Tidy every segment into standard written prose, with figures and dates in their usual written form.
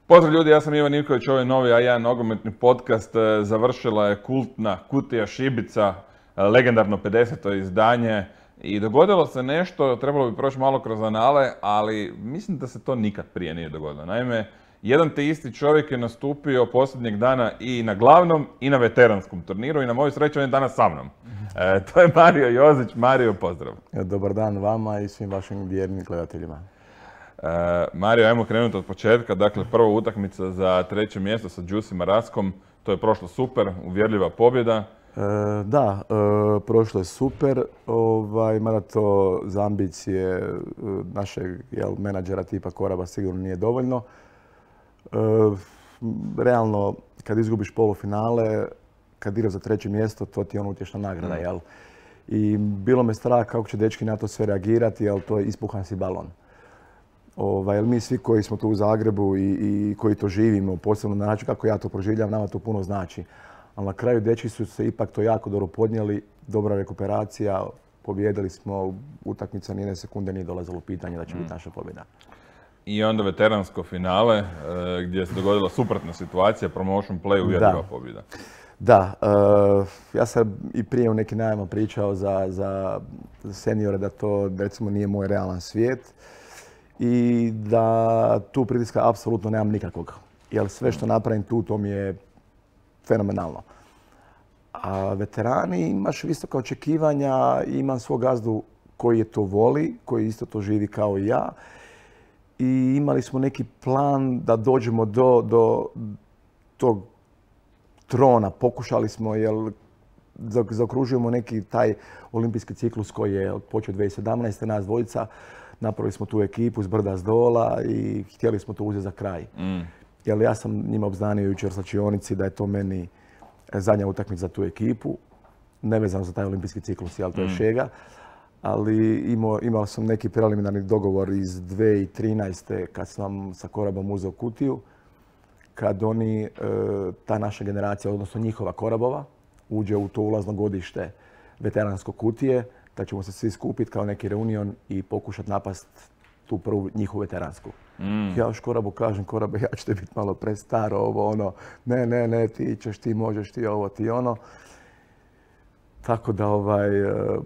Pozdrav ljudi, ja sam Ivan Ivković, ovo je novi A1 nogometni podcast. Završila je kultna Kutija Šibica, legendarno 50. izdanje i dogodilo se nešto, trebalo bi proći malo kroz anale, ali mislim da se to nikad prije nije dogodilo. Naime, jedan te isti čovjek je nastupio posljednjeg dana i na glavnom i na veteranskom turniru i na moju sreću on je danas sa mnom. To je Mario Jozić. Mario, pozdrav. Dobar dan vama i svim vašim vjernim gledateljima. Mario, ajmo krenuti od početka. Dakle, prva utakmica za treće mjesto sa Đusi Maraskom. To je prošlo super, uvjerljiva pobjeda. Prošlo je super, mada to za ambicije našeg menadžera tipa Koraba sigurno nije dovoljno. Realno, kad izgubiš polufinale, kad igraš za treće mjesto, to ti je utješna nagrada, jel? I bilo me strah kako će dečki na to sve reagirati, jel to je ispuhan si balon. Jer mi svi koji smo tu u Zagrebu i koji to živimo, posebno na način kako ja to proživljam, nama to puno znači. Ali na kraju dečki su se ipak to jako dobro podnijeli, dobra rekuperacija, pobjedili smo, utakmica nijedne sekunde nije dolazilo u pitanje da će biti naša pobjeda. I onda veteransko finale gdje se dogodila suprotna situacija, promotion play, uvjerljiva pobjeda. Da, ja sam i prije u nekim najavama pričao za seniore da to recimo nije moj realan svijet i da tu pritiska apsolutno nemam nikakvog. Jer sve što napravim tu, to mi je fenomenalno. A veterani imaš visoka očekivanja, imam svog gazdu koji je to voli, koji isto to živi kao i ja. I imali smo neki plan da dođemo do tog trona. Pokušali smo, jer zaokružujemo neki taj olimpijski ciklus koji je počeo 2017. Nas dvojica. Napravili smo tu ekipu s brda s dola i htjeli smo to uzeti za kraj. Jer ja sam njima obznanio jučer u slačionici da je to meni zadnja utakmica za tu ekipu. Nevezano za taj olimpijski ciklus, jel to je šega. Ali imao sam neki preliminarni dogovor iz 2013. kad sam sa Korabom uzeo Kutiju. Kad oni, ta naša generacija, odnosno njihova Korabova, uđe u to ulazno godište veteransko Kutije, da ćemo se svi skupiti kao neki reunion i pokušati napast tu prvu njihovu veteransku. Ja još Korabu kažem, Korabe, ja ću te biti malo prestaro, ovo ono, ne, ti ćeš, ti možeš, ti ovo, ti ono. Tako da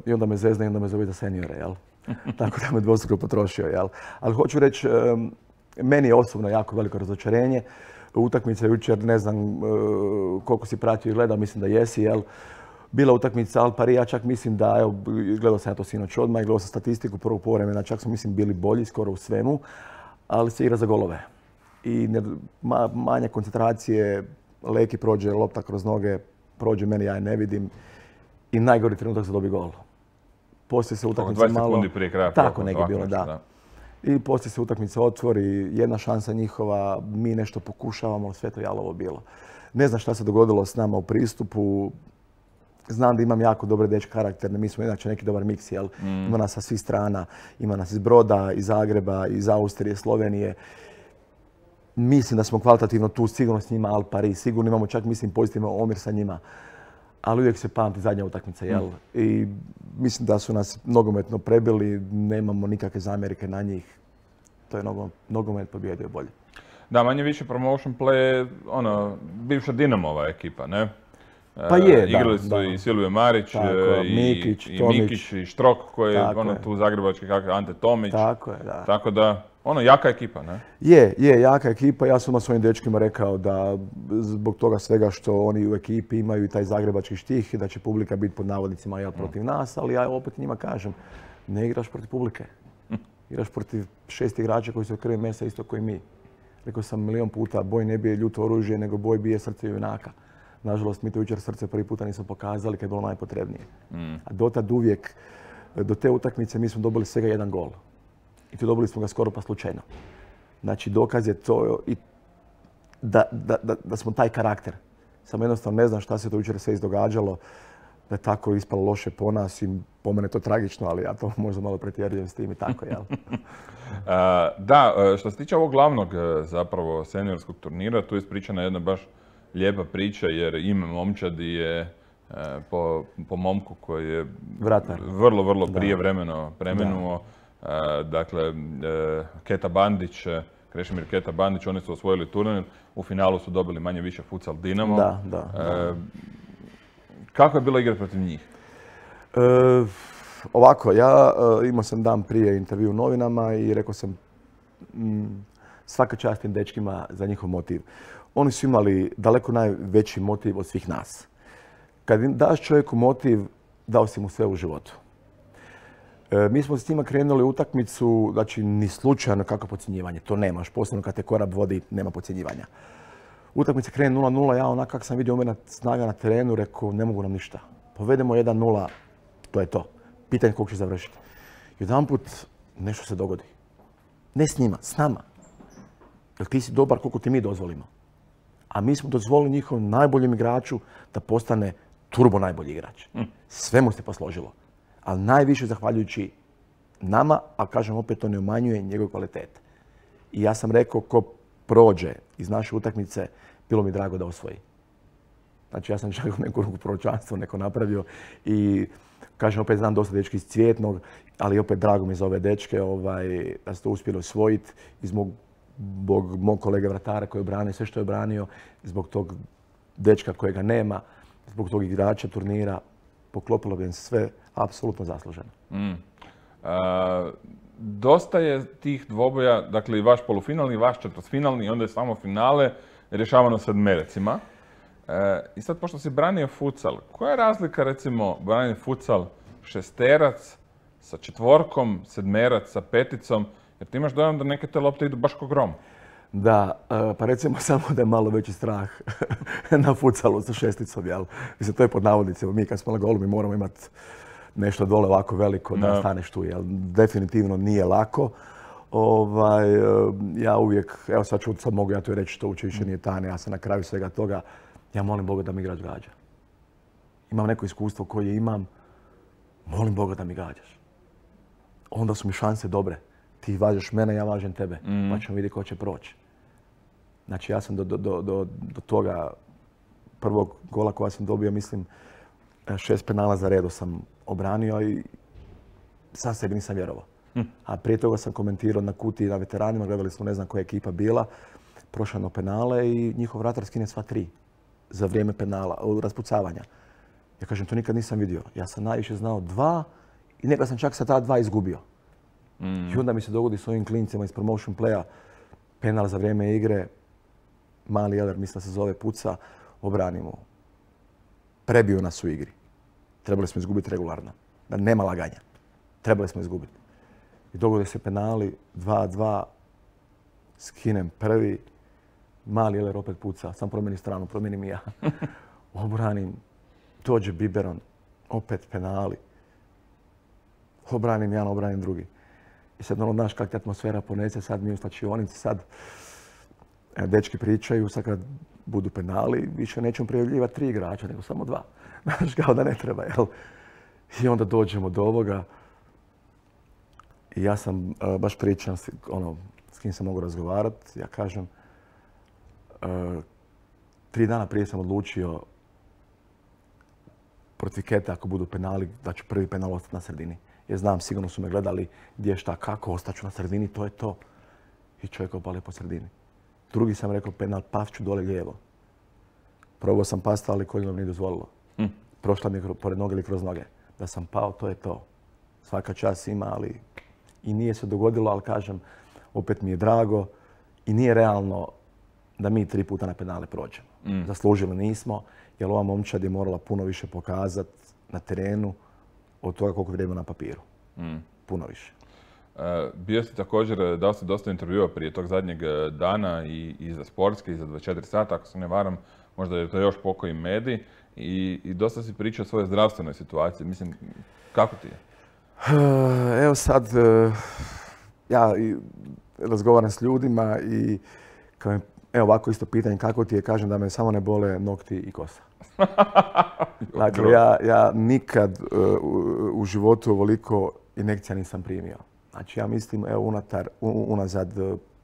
i onda me zezne i onda me zove za seniore, jel? Tako da me dvostruko potrošio, jel? Ali hoću reći, meni je osobno jako veliko razočarenje. Utakmica jučer, ne znam koliko si pratio i gledao, mislim da jesi, jel? Bila utakmica Al Pari, ja čak mislim da, evo, gledao sam ja to sinoć odmah i gledao sam statistiku prvog povremena, čak smo mislim bili bolji skoro u svemu, ali se igra za golove. I manje koncentracije, Leki prođe, lopta kroz noge, prođe meni, ja je ne vidim. I najgori trenutak za dobi gol. Poslije se utakmica malo... 20 sekundi prije kraja. Tako neki bilo, da. I poslije se utakmica otvori, jedna šansa njihova, mi nešto pokušavamo, sve to jalovo bilo. Ne znam šta se dogodilo s nama u pristupu. Znam da imam jako dobre dečke karakterne, mi smo inače neki dobar miks, jel? Ima nas sa svih strana, ima nas iz Broda, iz Zagreba, iz Austrije, Slovenije. Mislim da smo kvalitativno tu, sigurno s njima Al Pari, sigurno imamo čak, mislim, pozitivan omjer sa njima. Ali uvijek se pamti zadnja utakmica, jel? I mislim da su nas nogometno prebili, nemamo nikakve zamjerke na njih. To je nogomet pobjedio bolje. Da, manje više promotion play, bivša Dinamova ekipa, ne? Pa je, igrali su i Silvio Marić, i Mikić, i Štrok koji je tu zagrebački kakav Ante Tomić. Tako je, da. Tako da, jaka ekipa, ne? Je, jaka ekipa. Ja sam svojim dečkima rekao da zbog toga svega što oni u ekipi imaju i taj zagrebački štih, da će publika biti pod navodnicima jel protiv nas, ali ja opet njima kažem, ne igraš protiv publike. Igraš protiv 6 igrača koji su od krvi mesa isto koji mi. Rekao sam milion puta, boj ne bije ljuto oružje, nego boj bije srce junaka. Nažalost, mi to jučer srce prvi puta nismo pokazali kad je bilo najpotrebnije. A dotad uvijek, do te utakmice mi smo dobili svega jedan gol. I to dobili smo ga skoro pa slučajno. Znači, dokaz je to da smo taj karakter. Samo jednostavno ne znam šta se to jučer sve izdogađalo, da je tako ispalo loše po nas i po mene to tragično, ali ja to možda malo pretjerujem s tim i tako, jel? Da, što se tiče ovog glavnog zapravo seniorskog turnira, tu je ispričana jedna baš lijepa priča jer ime momčadi je po momku koji je vrlo prijevremeno preminuo. Dakle, Keta Bandić Krešimir Keta Bandić, oni su osvojili turnir, u finalu su dobili manje-više futsal Dinamo. Da. Kako je bilo igrati protiv njih? Ovako, ja imao sam dan prije intervju u novinama i rekao sam svaka čast tim dečkima za njihov motiv. Oni su imali daleko najveći motiv od svih nas. Kad daš čovjeku motiv, dao si mu sve u životu. Mi smo s njima krenuli u utakmicu, znači ni slučajno kako podcjenjivanje, to nemaš, posebno kad te Korab vodi, nema podcjenjivanja. Utakmica krene 0-0, ja onak kako sam vidio umjerna snaga na terenu, rekao ne mogu nam ništa. Povedemo 1-0, to je to. Pitanje koliko će završiti. Jedanput nešto se dogodi. Ne s njima, s nama. Jer ti si dobar koliko ti mi dozvolimo. A mi smo dozvolili njihovom najboljem igraču da postane turbo najbolji igrač. Sve mu se posložilo. Ali najviše zahvaljujući nama, a kažem opet to ne umanjuje njegov kvalitet. I ja sam rekao ko prođe iz naše utakmice, bilo mi drago da osvoji. Znači ja sam čak u neku ruku proročanstvo neko napravio i kažem opet znam dosta dečki iz Cvjetnog, ali opet drago mi za ove dečke da su to uspjeli osvojiti i zbog mog kolege vratara koji je branio sve što je branio, zbog tog dečka kojega nema, zbog tog igrača turnira, poklopilo bi im sve apsolutno zasluženo. Dosta je tih dvoboja, dakle i vaš polufinalni, i vaš četvrtfinalni i onda je samo finale rješavano sedmerecima. I sad, pošto si branio futsal, koja je razlika, recimo, branio futsal šesterac sa četvorkom, sedmerac sa peticom, jer ti imaš dojam da neke te lopte idu baš ko grom. Da, pa recimo samo da je malo veći strah na futsalu sa šesticom, jel? Mislim, to je pod navodnicima. Mi kad smo na golu, mi moramo imati nešto dole ovako veliko da staneš tu, jel? Definitivno nije lako. Ja uvijek, evo sad mogu ja to reći, to uče više nije tajne, ja sam na kraju svega toga, ja molim Boga da mi igrač gađa. Imam neko iskustvo koje imam, molim Boga da mi gađaš. Onda su mi šanse dobre. Ti važeš mene, ja važem tebe, pa ćemo vidjeti ko će proći. Znači ja sam do toga prvog gola koja sam dobio, mislim, 6 penala za redu sam obranio i sam sebi nisam vjerovao. A prije toga sam komentirao na Kutiji, na veteranima, gledali smo ne znam koja je ekipa bila, prošla na penale i njihov vratar skine sva 3 za vrijeme penala, raspucavanja. Ja kažem, to nikad nisam vidio. Ja sam najviše znao 2 i nekad sam čak sa ta 2 izgubio. I onda mi se dogodi s ovim klincima iz promotion playa, penal za vrijeme igre, mali Jeler, mislim da se zove, puca, obranimo. Prebio nas u igri. Trebali smo izgubiti regularno. Da nema laganja. Trebali smo izgubiti. I dogode se penali, 2-2, skinem prvi, mali Jeler opet puca, sam promijeni stranu, promijenim i ja. Obranim, dođe Biberon, opet penali. Obranim jedan, obranim drugi. I sad ono, znaš kakva atmosfera ponese, sad mi u slačionici, sad dečki pričaju, sad kad budu penali, više nećemo prijavljivati 3 igrača, nego samo 2. Znaš, kao da ne treba, jel? I onda dođemo do ovoga. I ja sam baš pričam, s kim sam mogu razgovarati, ja kažem, 3 dana prije sam odlučio protiv Kete, ako budu penali, da ću prvi penal ostati na sredini. Jer znam, sigurno su me gledali gdje, šta, kako, ostaću na sredini, to je to. I čovjek opali po sredini. Drugi sam rekao penal, past ću dole lijevo. Probao sam pasti, ali koljeno mi nije dozvolilo. Prošla mi je pored noge ili kroz noge. Da sam pao, to je to. Svaka čast ima, ali i nije se dogodilo, ali kažem, opet mi je drago i nije realno da mi 3 puta na penale prođemo. Zaslužili nismo, jer ova momčad je morala puno više pokazati na terenu od toga koliko vrijeme na papiru. Puno više. Bio si također, dao si dosta intervjua prije tog zadnjeg dana i za Sportski, i za 24 sata, ako se ne varam, možda je to još pokoji medij. I dosta si pričao o svojoj zdravstvenoj situaciji. Mislim, kako ti je? Evo sad, ja razgovaram s ljudima i evo ovako isto pitanje kako ti je, kažem da me samo ne bole nokti i kosa. Dakle, ja nikad u životu ovoliko injekcija nisam primio. Znači ja mislim, evo unazad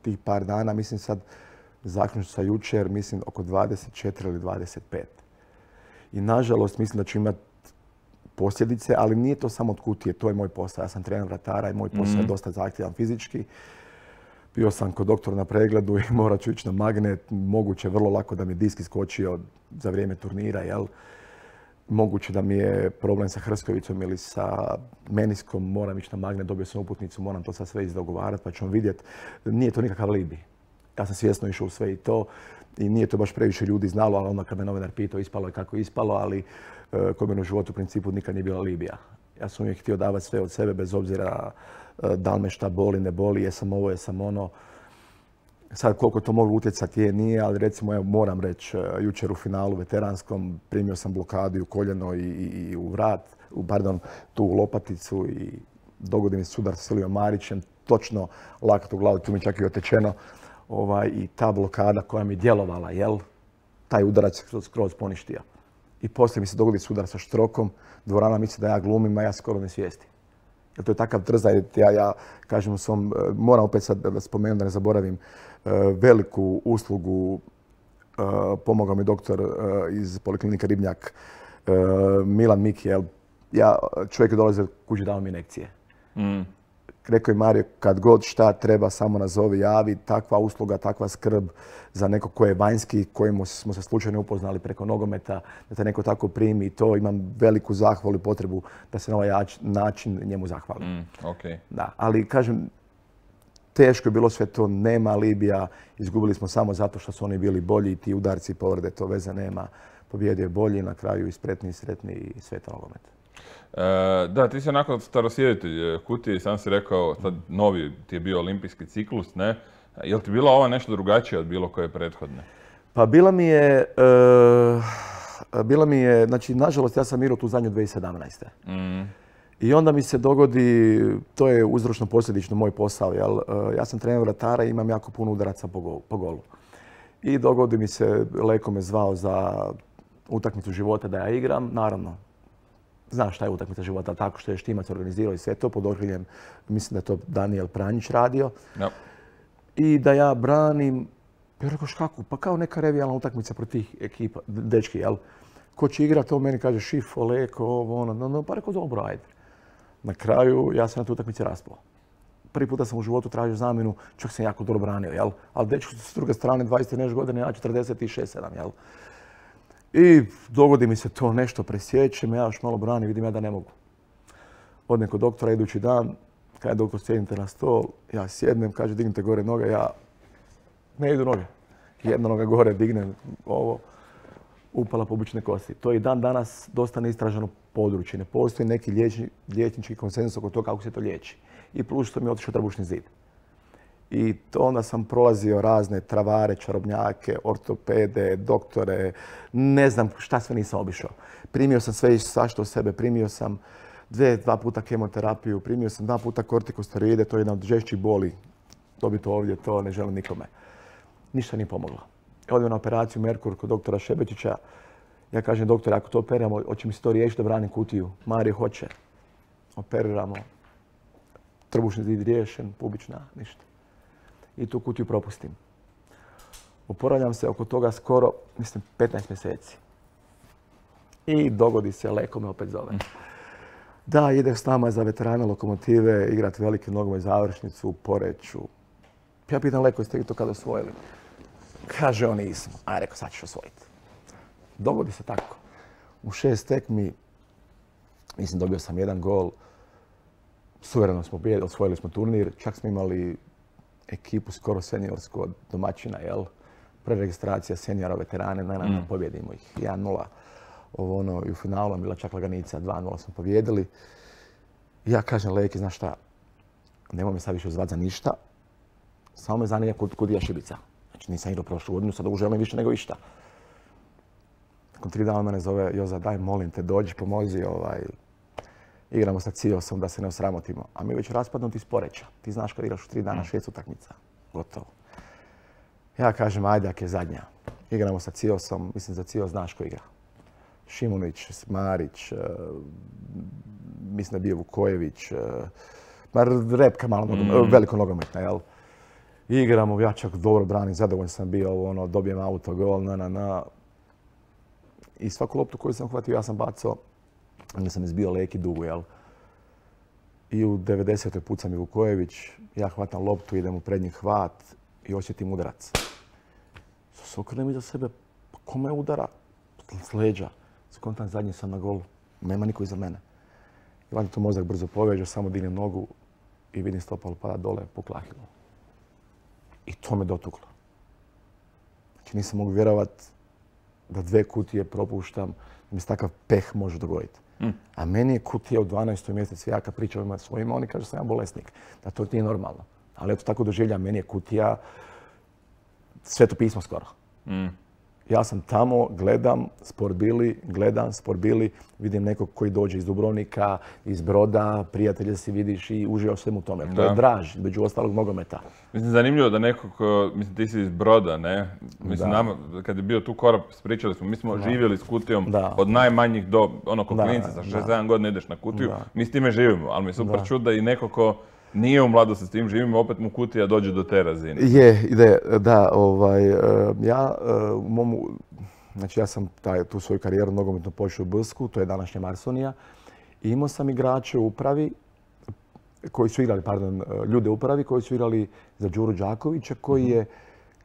tih par dana, mislim sad zaključno sa jučer, mislim oko 24 ili 25. I nažalost mislim da ću imati posljedice, ali nije to samo od Kutije, to je moj posao. Ja sam trener vratara i moj posao je dosta zahtjevan fizički. Bio sam kod doktora na pregledu i morat ću ići na magnet. Moguće vrlo lako da mi disk iskočio za vrijeme turnira, jel? Moguće da mi je problem sa hrskavicom ili sa meniskom, moram ići na magnet, dobio sam uputnicu, moram to sad sve izdogovarati pa ćemo vidjeti. Nije to nikakav alibi. Ja sam svjesno išao u sve i to i nije to baš previše ljudi znalo, ali onda kad me novinar pitao ispalo je kako je ispalo, ali kod mene u životu u principu nikad nije bila alibija. Ja sam uvijek htio davati sve od sebe bez obzira da li me šta boli, ne boli, jesam ovo, jesam ono. Sad koliko to moglo utjecati nije, ali recimo evo, moram reći, jučer u finalu veteranskom primio sam blokadu i u koljeno i u vrat, tu u lopaticu i dogodi mi sudar sa Silijom Marićem, točno lakat u glavu, tu mi čak i otečeno. I ta blokada koja mi djelovala, jel, taj udarac skroz poništio. I poslije mi se dogodi sudar sa Štrokom, dvorana misli da ja glumim, a ja skoro ne svijestim. Jer to je takav trzaj, ja kažem u svom, moram opet sad da spomenem da ne zaboravim, veliku uslugu pomogao mi doktor iz Poliklinike Ribnjak, Milan Mikijel. Čovjek je dolazio kući dao mi injekcije. Rekao je Mario, kad god šta treba, samo nazovi, javi, takva usluga, takva skrb za neko ko je vanjski, kojemu smo se slučajno upoznali preko nogometa, da te neko tako primi i to imam veliku zahvalu i potrebu da se na ovaj način njemu zahvalim. Okay. Da, ali kažem, teško je bilo sve to, nema alibija, izgubili smo samo zato što su oni bili bolji i ti udarci i povrede, to veze nema. Pobjedio je bolji, na kraju i spretni i sretni i sveta nogomet. Da, ti si onako starosjeditelj Kutije i sam si rekao, sad novi ti je bio olimpijski ciklus, ne? Je li ti bila ova nešto drugačija od bilo koje prethodne? Pa bila mi je, znači nažalost ja sam igrao tu zadnju 2017. I onda mi se dogodi, to je uzročno posljedično moj posao, jel? Ja sam trener vratara i imam jako puno udaraca po golu. I dogodi mi se, Leko me zvao za utakmicu života da ja igram, naravno. Znaš šta je utakmica života, tako što je Štimac organizirao i sve to pod okriljem, mislim da je to Daniel Pranjić radio. Yep. I da ja branim, ja rekao kako, pa kao neka revijalna utakmica protiv tih ekipa, dečki, jel? Ko će igrat, to meni kaže Šifo, Leko, ovo, ono, pa rekao dobro, ajde. Na kraju ja sam na tu utakmici raspao. Prvi puta sam u životu tražio zamjenu, čak sam jako dobro branio, jel? Ali dečki s druge strane 20 nešto godine, ja 46-7, jel? I dogodi mi se to nešto, presjećem, ja još malo branim, vidim ja da ne mogu. Odem kod doktora idući dan, kaže doktor sjednite na stol, ja sjednem, kaže dignite gore noge, ja ne idu noge. Jedna noga gore, dignem ovo, upala pobučne kosti. To je i dan danas dosta neistraženo područje. Ne postoji neki liječnički konsenzus oko toga kako se to liječi. I plus što mi je otišao trbušni zid. I onda sam prolazio razne travare, čarobnjake, ortopede, doktore, ne znam šta sve nisam obišao. Primio sam sve i svašta u sebe, primio sam dva puta kemoterapiju, primio sam 2 puta kortikosteroide, to je jedna od žešćih boli. Dobiti ovdje, to ne želim nikome. Ništa nije pomoglo. Odem na operaciju Merkur kod doktora Šebečića. Ja kažem, doktore, ako to operiramo, hoće mi se to riješiti da branim kutiju? Mario hoće. Operiramo. Trbušni zid riješen, pubična, ništa. I tu kutiju propustim. Oporavljam se oko toga skoro, mislim, 15 mjeseci. I dogodi se, Leko me opet zove. Da, ide s nama za veterane Lokomotive, igrati veliki nogomet završnicu u Poreču. Ja pitam Leko, jeste vi to kada osvojili? Kaže on nismo. A rekao, sad ćeš osvojiti. Dogodi se tako. U 6 tekmi, mislim, dobio sam 1 gol. Suvereno smo pobijedili, osvojili smo turnir. Čak smo imali ekipu skoro seniorsku od domaćina, jel? Preregistracija seniora, veterane, pobjedimo ih 1-0. I u finalu nam bila čak laganica, 2-0 smo pobjedili. I ja kažem Leki, znaš šta, nemoj me sad više zvati za ništa, samo me zanima Kutija Šibica. Znači nisam igrao prošlu godinu, sad želim više nego išta. Nakon 3 dana mene zove Joza, daj molim te, dođi, pomozi, igramo sa Ciosom da se ne osramotimo. A mi već raspadnuti iz Poreča. Ti znaš kad igraš u 3 dana 6 utakmica. Gotovo. Ja kažem, ajde, ak je zadnja. Igramo sa Ciosom, mislim za Cios znaš ko igra. Šimunić, Marić, mislim da je bio Vukojević, repka malo veliko nogometna, jel? Igramo, ja čak dobro branim, zadovoljan sam bio, dobijem autogol, I svaku loptu koju sam hvatio, ja sam bacao, onda sam izbio Leki dugu, jel? I u 90. puca mi Vukojević, ja hvatam loptu, idem u prednji hvat i osjetim udarac. Se okrenem iza sebe, pa ko me udara? S leđa. Skontam zadnji sam na golu, nema niko iza mene. I valjda to mozak brzo poveže, samo dignem nogu i vidim stopalo pada dole, pukla Ahilova. I to me dotuklo. Znači nisam mogu vjerovat da 2 kutije propuštam, da mi se takav peh može dogoditi. A meni je kutija u 12. mjesecu, ja kad pričam svojima, oni kažu da sam ja bolesnik, da to nije normalno. Ali eto tako doživljam, meni je kutija Sveto pismo skoro. Ja sam tamo, gledam Sport Bili, vidim nekog koji dođe iz Dubrovnika, iz Broda, prijatelje si vidiš i uživaš svemu tome. To je draž, među ostalog nogometa. Mislim, zanimljivo da nekog, mislim, ti si iz Broda, ne? Mislim, nama, kad je bio tu Korab, pričali smo, mi smo živjeli s kutijom od najmanjih do, ono, ko klinci, sa 6-7 godina ideš na kutiju, mi s time živimo, ali mi je super čut da i neko ko nije u mladosti s tim živimo, opet mu kutija dođe do te razine. Ja sam tu svoju karijeru nogometno počeo u Bsku, to je današnja Marsonija. I imao sam igrače u upravi, ljude u upravi koji su igrali za Đuru Đakovića, koji je,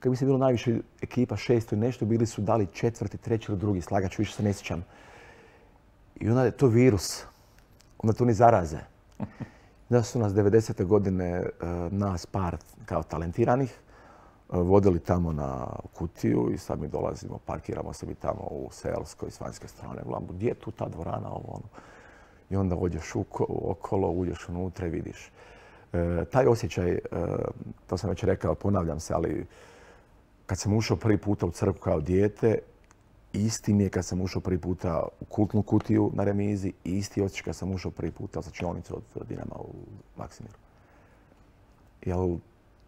kad mislim bilo najviše ekipa, 600 i nešto, bili su dali 4., 3. ili 2. slagač, više se ne sjećam. I onda je to virus, onda to ni zaraze. Da su nas 90. godine, nas par kao talentiranih, vodili tamo na kutiju i sad mi dolazimo, parkiramo se mi tamo u Selskoj s vanjske strane. Gledamo, gdje je tu ta dvorana, ovo ono. I onda odješ okolo, uđeš unutra i vidiš. Taj osjećaj, to sam već rekao, ponavljam se, ali kad sam ušao prvi puta u crkvu kao dijete, isti mi je kad sam ušao prvi puta u kultnu kutiju na remizi i isti osjećaj kad sam ušao prvi puta u slačionicu od Dinama u Maksimiru. Jer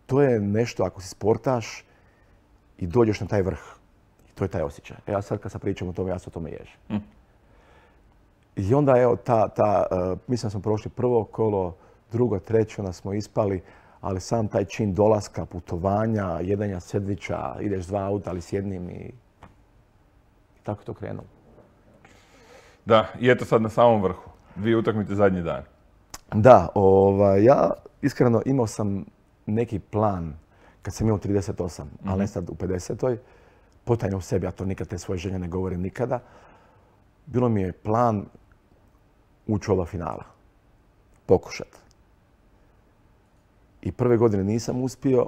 to je nešto, ako si sportaš i dođeš na taj vrh, to je taj osjećaj. Ja sad kad sam pričam o tome, ja se o tome ježim. I onda evo mislim da smo prošli prvo kolo, drugo, treće, onda smo ispali, ali sam taj čin dolaska, putovanja, jedanja sendviča, ideš 2 auta, ali s jednim i tako to krenulo. Da, i eto sad na samom vrhu. 2 utakmice zadnji dan. Da, ja iskreno imao sam neki plan kad sam imao 38, ali ne sad u 50. Potajno u sebi, ja to nikad te svoje želje ne govorim nikada. Bilo mi je plan ući u oba finala. Pokušat. I prve godine nisam uspio.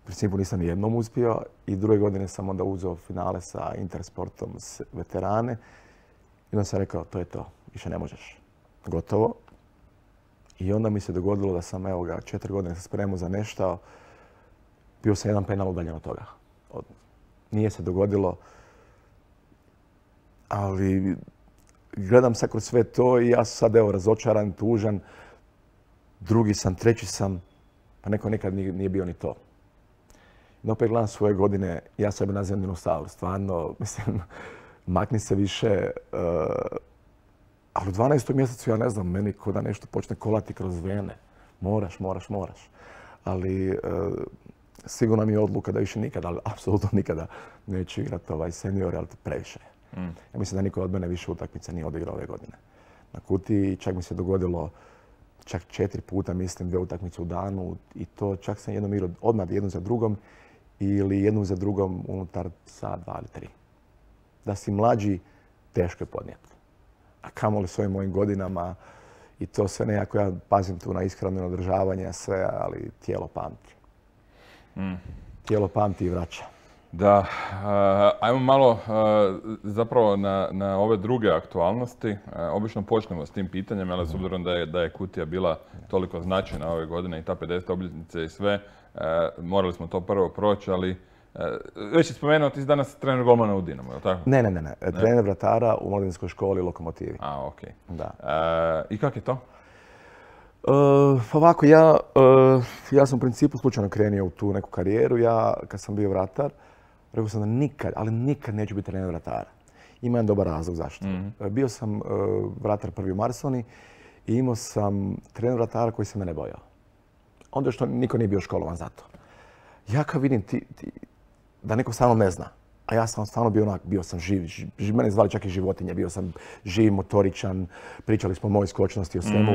U principu nisam ni jednom uspio. I druge godine sam onda uzeo finale sa Intersportom veterane. I onda sam rekao, to je to. Više ne možeš. Gotovo. I onda mi se dogodilo da sam, 4 godine se spremao za nešto. Bio sam jedan penal udaljen od toga. Nije se dogodilo. Ali gledam sad kroz sve to i ja sam sad razočaran, tužan. Drugi sam, treći sam, pa neko nekad nije bio ni to. I opet gledam svoje godine, ja sebe nazivam dinosaur, stvarno, mislim, makni se više. Ali u 12. mjesecu, ja ne znam, meni ko da nešto počne kolati kroz vene. Moraš. Ali sigurno mi je odluka da više nikada, ali apsolutno nikada neću igrati senior, ali to previše je. Ja mislim da niko od mene više utakmica nije odigrao ove godine. Na kutiji čak mi se dogodilo 4 puta, mislim, 2 utakmice u danu i to čak sam jednom igrao odmah jednu za drugom ili jednu za drugom unutar sat, 2 ili 3. Da si mlađi, teško je podnijeti. A kamoli s ovim mojim godinama i to sve nekako, ja pazim tu na ishranu i održavanje, sve, ali tijelo pamti. Tijelo pamti i vraća. Da, ajmo malo zapravo na ove druge aktualnosti. Obično počnemo s tim pitanjem, ali s obzirom da je kutija bila toliko značajna ove godine i ta 50. obljetnice i sve, morali smo to prvo proći, ali već je spomenuo, ti si danas trener golmana u Dinamu, je li tako? Ne. Trener vratara u Mladinskoj školi Lokomotivi. A, okej. Da. I kako je to? Ovako, ja sam u principu slučajno krenio u tu neku karijeru. Ja, kad sam bio vratar, rekao sam da nikad neću biti trener vratara. Ima jedan dobar razlog zašto. Bio sam vratar prvi u Marsoni i imao sam trener vratara koji se mene bojao. Onda što niko nije bio školovan za to. Ja kad vidim da neko sa mnom ne zna, A ja sam stvarno bio sam živ, mene zvali čak i životinje, bio sam živ, motoričan, pričali smo o mojoj skočnosti, o svemu.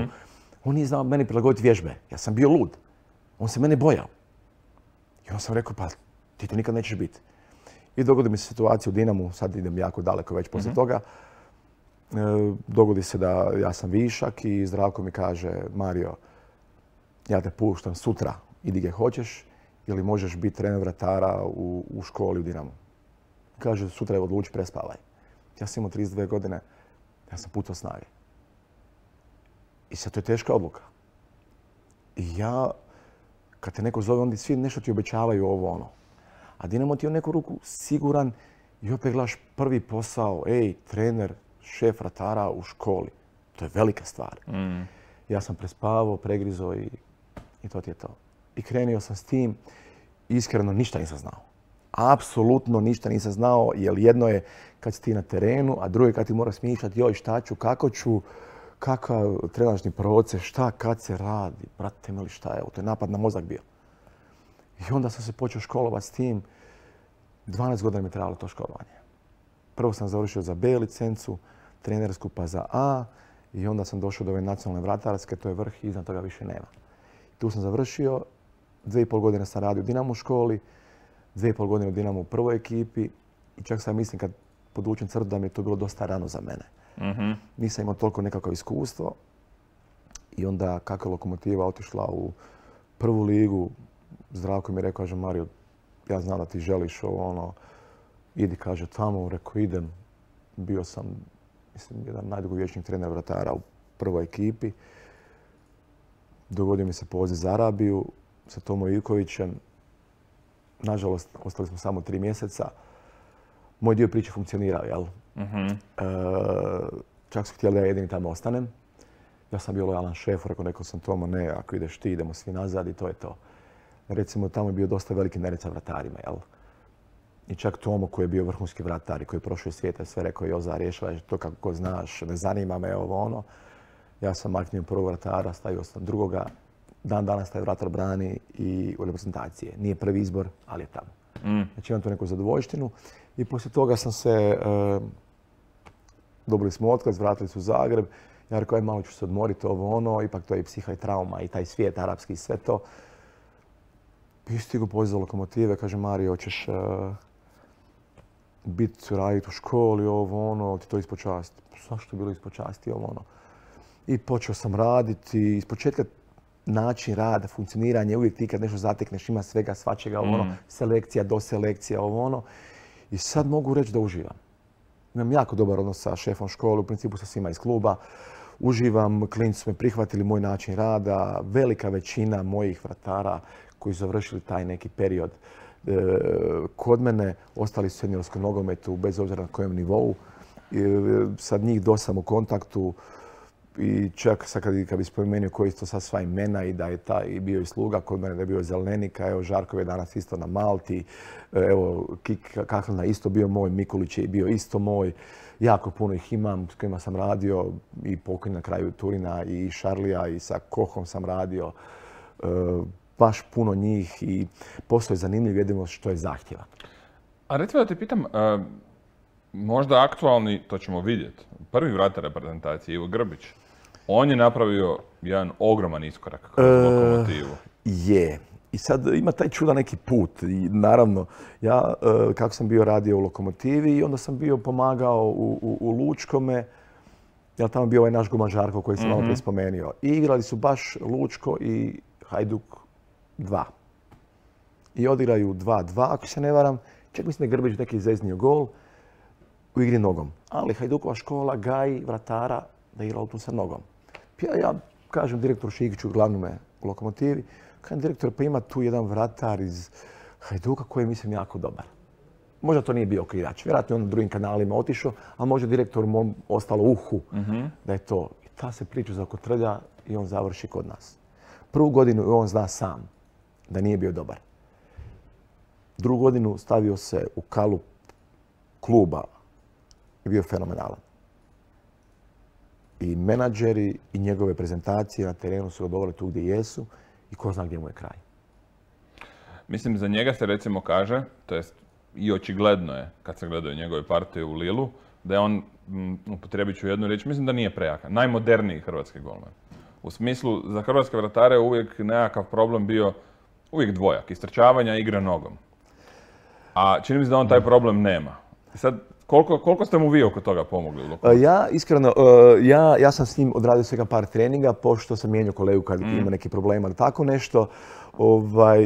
On nije znao meni prilagoditi vježbe, ja sam bio lud. On se mene bojao. I onda sam rekao, pa ti to nikad nećeš biti. I dogodi mi se situacija u Dinamu, sad idem jako daleko već poslije toga. Dogodi se da ja sam višak i Zdravko mi kaže, Mario, ja te puštam sutra, idi gdje hoćeš, ili možeš biti trener vratara u školi u Dinamu. Kaže, sutra je odluči, prespavaj. Ja sam imao 32 godine, ja sam putao snage. I sad to je teška odluka. I ja, kad te neko zove, onda svi nešto ti obećavaju ovo ono. A Dinamo ti je u neku ruku siguran i opet gledaš prvi posao, trener, šef vratara u školi. To je velika stvar. Ja sam prespavao, pregrizao i to ti je to. I krenio sam s tim. Iskreno ništa nisam znao. Apsolutno ništa nisam znao, jer jedno je kad si ti na terenu, a drugo je kad ti moraš smišljati, joj šta ću, kako ću, kakav trenažni proces, šta, kad se radi, brate mili šta je, to je napad na mozak bio. I onda sam se počeo školovati s tim. 12 godina mi je trebalo to školovanje. Prvo sam završio za B licencu, trenersku pa za A i onda sam došao do ove nacionalne vratarske, to je vrh i iznad toga više nema. Tu sam završio, 2,5 godine sam radio u Dinamo školi, 2,5 godine u Dinamo u prvoj ekipi i čak sam mislim kad podvučem crtu da mi je to bilo dosta rano za mene. Nisam imao toliko nekakvo iskustvo i onda kako je Lokomotiva otišla u prvu ligu, Zdravko mi je rekao, kaže Mario, ja znam da ti želiš ovo ono, idi kaže tamo, rekao idem. Bio sam, mislim, jedan najdugovječniji trener vratara u prvoj ekipi. Dogodio mi se poziv za Arabiju sa Tomo Ivkovićem. Nažalost, ostali smo samo 3 mjeseca. Moj dio priče funkcionirao, jel? Čak su htjeli da ja jedini tamo ostanem. Ja sam bio lojalan šefu, rekao sam Tomo, ne, ako ideš ti, idemo svi nazad i to je to. Recimo, tamo je bio dosta veliki nered sa vratarima, jel? I čak Tomo koji je bio vrhunski vratar i koji je prošao svijeta, sve rekao, Joza, rješavaj to kako znaš, ne zanima me ovo ono. Ja sam maknuo prvog vratara, stavio sam drugoga. Dan danas taj vratar brani i u reprezentacije. Nije prvi izbor, ali je tamo. Znači imam tu neku zadovoljštinu. I poslije toga sam se, dobili smo otkaz, vratili su u Zagreb. Ja rekao, malo ću se odmoriti ovo ono, ipak to je i psiha i trauma i taj svijet arapski i sve to. I stigu poziv za Lokomotive, kaže Mario, hoćeš raditi u školi, ovo ono, ti to ispod časti. Zašto je bilo ispod časti, ovo ono. I počeo sam raditi, iz početka način rada, funkcioniranje, uvijek ti kad nešto zatekneš, ima svega, svačega, ovo ono, selekcija, doselekcija, ovo ono. I sad mogu reći da uživam. Imam jako dobar odnos sa šefom škole, u principu sa svima iz kluba. Uživam, klinci su me prihvatili moj način rada, velika većina mojih vratara koji su završili taj neki period kod mene, ostali su u seniorskom nogometu bez obzira na kojem nivou. Sad njih dosam u kontaktu i čak sad kad bi spomenuo koji su to sad sva imena i da je taj bio i sluga kod mene, da je bio Zelenika, evo Žarkov je danas isto na Malti, evo Kik Kahlina isto bio moj, Mikulić je bio isto moj. Jako puno ih imam s kojima sam radio i pokojni na kraju Turina i Šarlija i sa Kohom sam radio. Baš puno njih i posao je zanimljiv, jedino što je zahtjevan. A recimo da te pitam, možda aktualni, to ćemo vidjeti, prvi vratar reprezentacije, Ivo Grbić, on je napravio jedan ogroman iskorak kroz Lokomotivu. Je. I sad ima taj čudan neki put. I naravno, ja kako sam bio radio u Lokomotivi i onda sam bio pomagao u Lučkome, jer tamo bio ovaj naš Guman Žarko koji sam malo prije spomenuo. I igrali su baš Lučko i Hajduk 2. I odigraju 2-2, ako se ne varam. Čak mislim da je Grbić neki zeznio gol u igri nogom. Ali Hajdukova škola gaji vratara da igra tu sa nogom. Ja kažem direktoru Šikiću, glavnome u Lokomotivi, kažem direktor, pa ima tu jedan vratar iz Hajduka koji je, mislim, jako dobar. Možda to nije bio igrač, vjerojatno je on na drugim kanalima otišao, a možda direktor mom ostalo uhu da je to. I ta se priča zakotrlja i on završi kod nas. Prvu godinu on zna sam da nije bio dobar. Drugu godinu stavio se u kalup kluba i bio fenomenalan. I menadžeri i njegove prezentacije na terenu su ga doveli tu gdje jesu i ko zna gdje mu je kraj. Mislim, za njega se recimo kaže, to jest i očigledno je, kad se gledaju njegove partije u Lilu, da je on, upotrijebit ću jednu riječ, mislim da nije prejaka, najmoderniji hrvatski golman. U smislu, za hrvatske vratare je uvijek nekakav problem bio uvijek dvojak, istrčavanja i igre nogom. A čini mi se da on taj problem nema. Sad, koliko ste mu vi oko toga pomogli u Lokomotivu? Ja, iskreno, ja sam s njim odradio svega par treninga, pošto sam mijenjao kolegu kad ima neki problem ili tako nešto.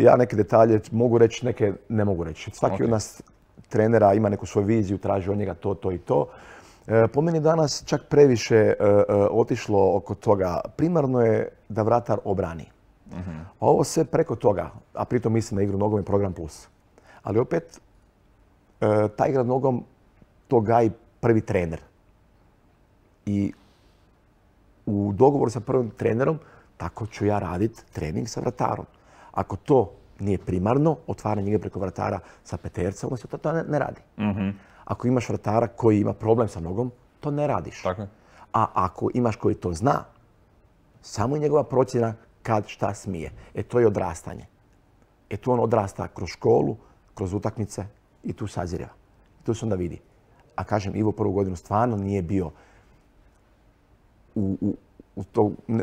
Ja neke detalje mogu reći, neke ne mogu reći. Svaki od nas trenera ima neku svoju viziju, traži od njega to i to. Po meni danas čak previše otišlo oko toga. Primarno je da vratar obrani. A ovo sve preko toga, a pritom mislim na igru nogom i program plus. Ali opet, ta igra nogom to gaji prvi trener. I u dogovoru sa prvim trenerom tako ću ja raditi trening sa vratarom. Ako to nije primarno, otvaranje igre preko vratara sa peterca, onda se to ne radi. Ako imaš vratara koji ima problem sa nogom, to ne radiš. Tako je. A ako imaš koji to zna, samo je njegova procjena kad šta smije. To je odrastanje. Tu on odrasta kroz školu, kroz utakmice i tu sazireva. Tu se onda vidi. A kažem, Ivo prvu godinu stvarno nije bio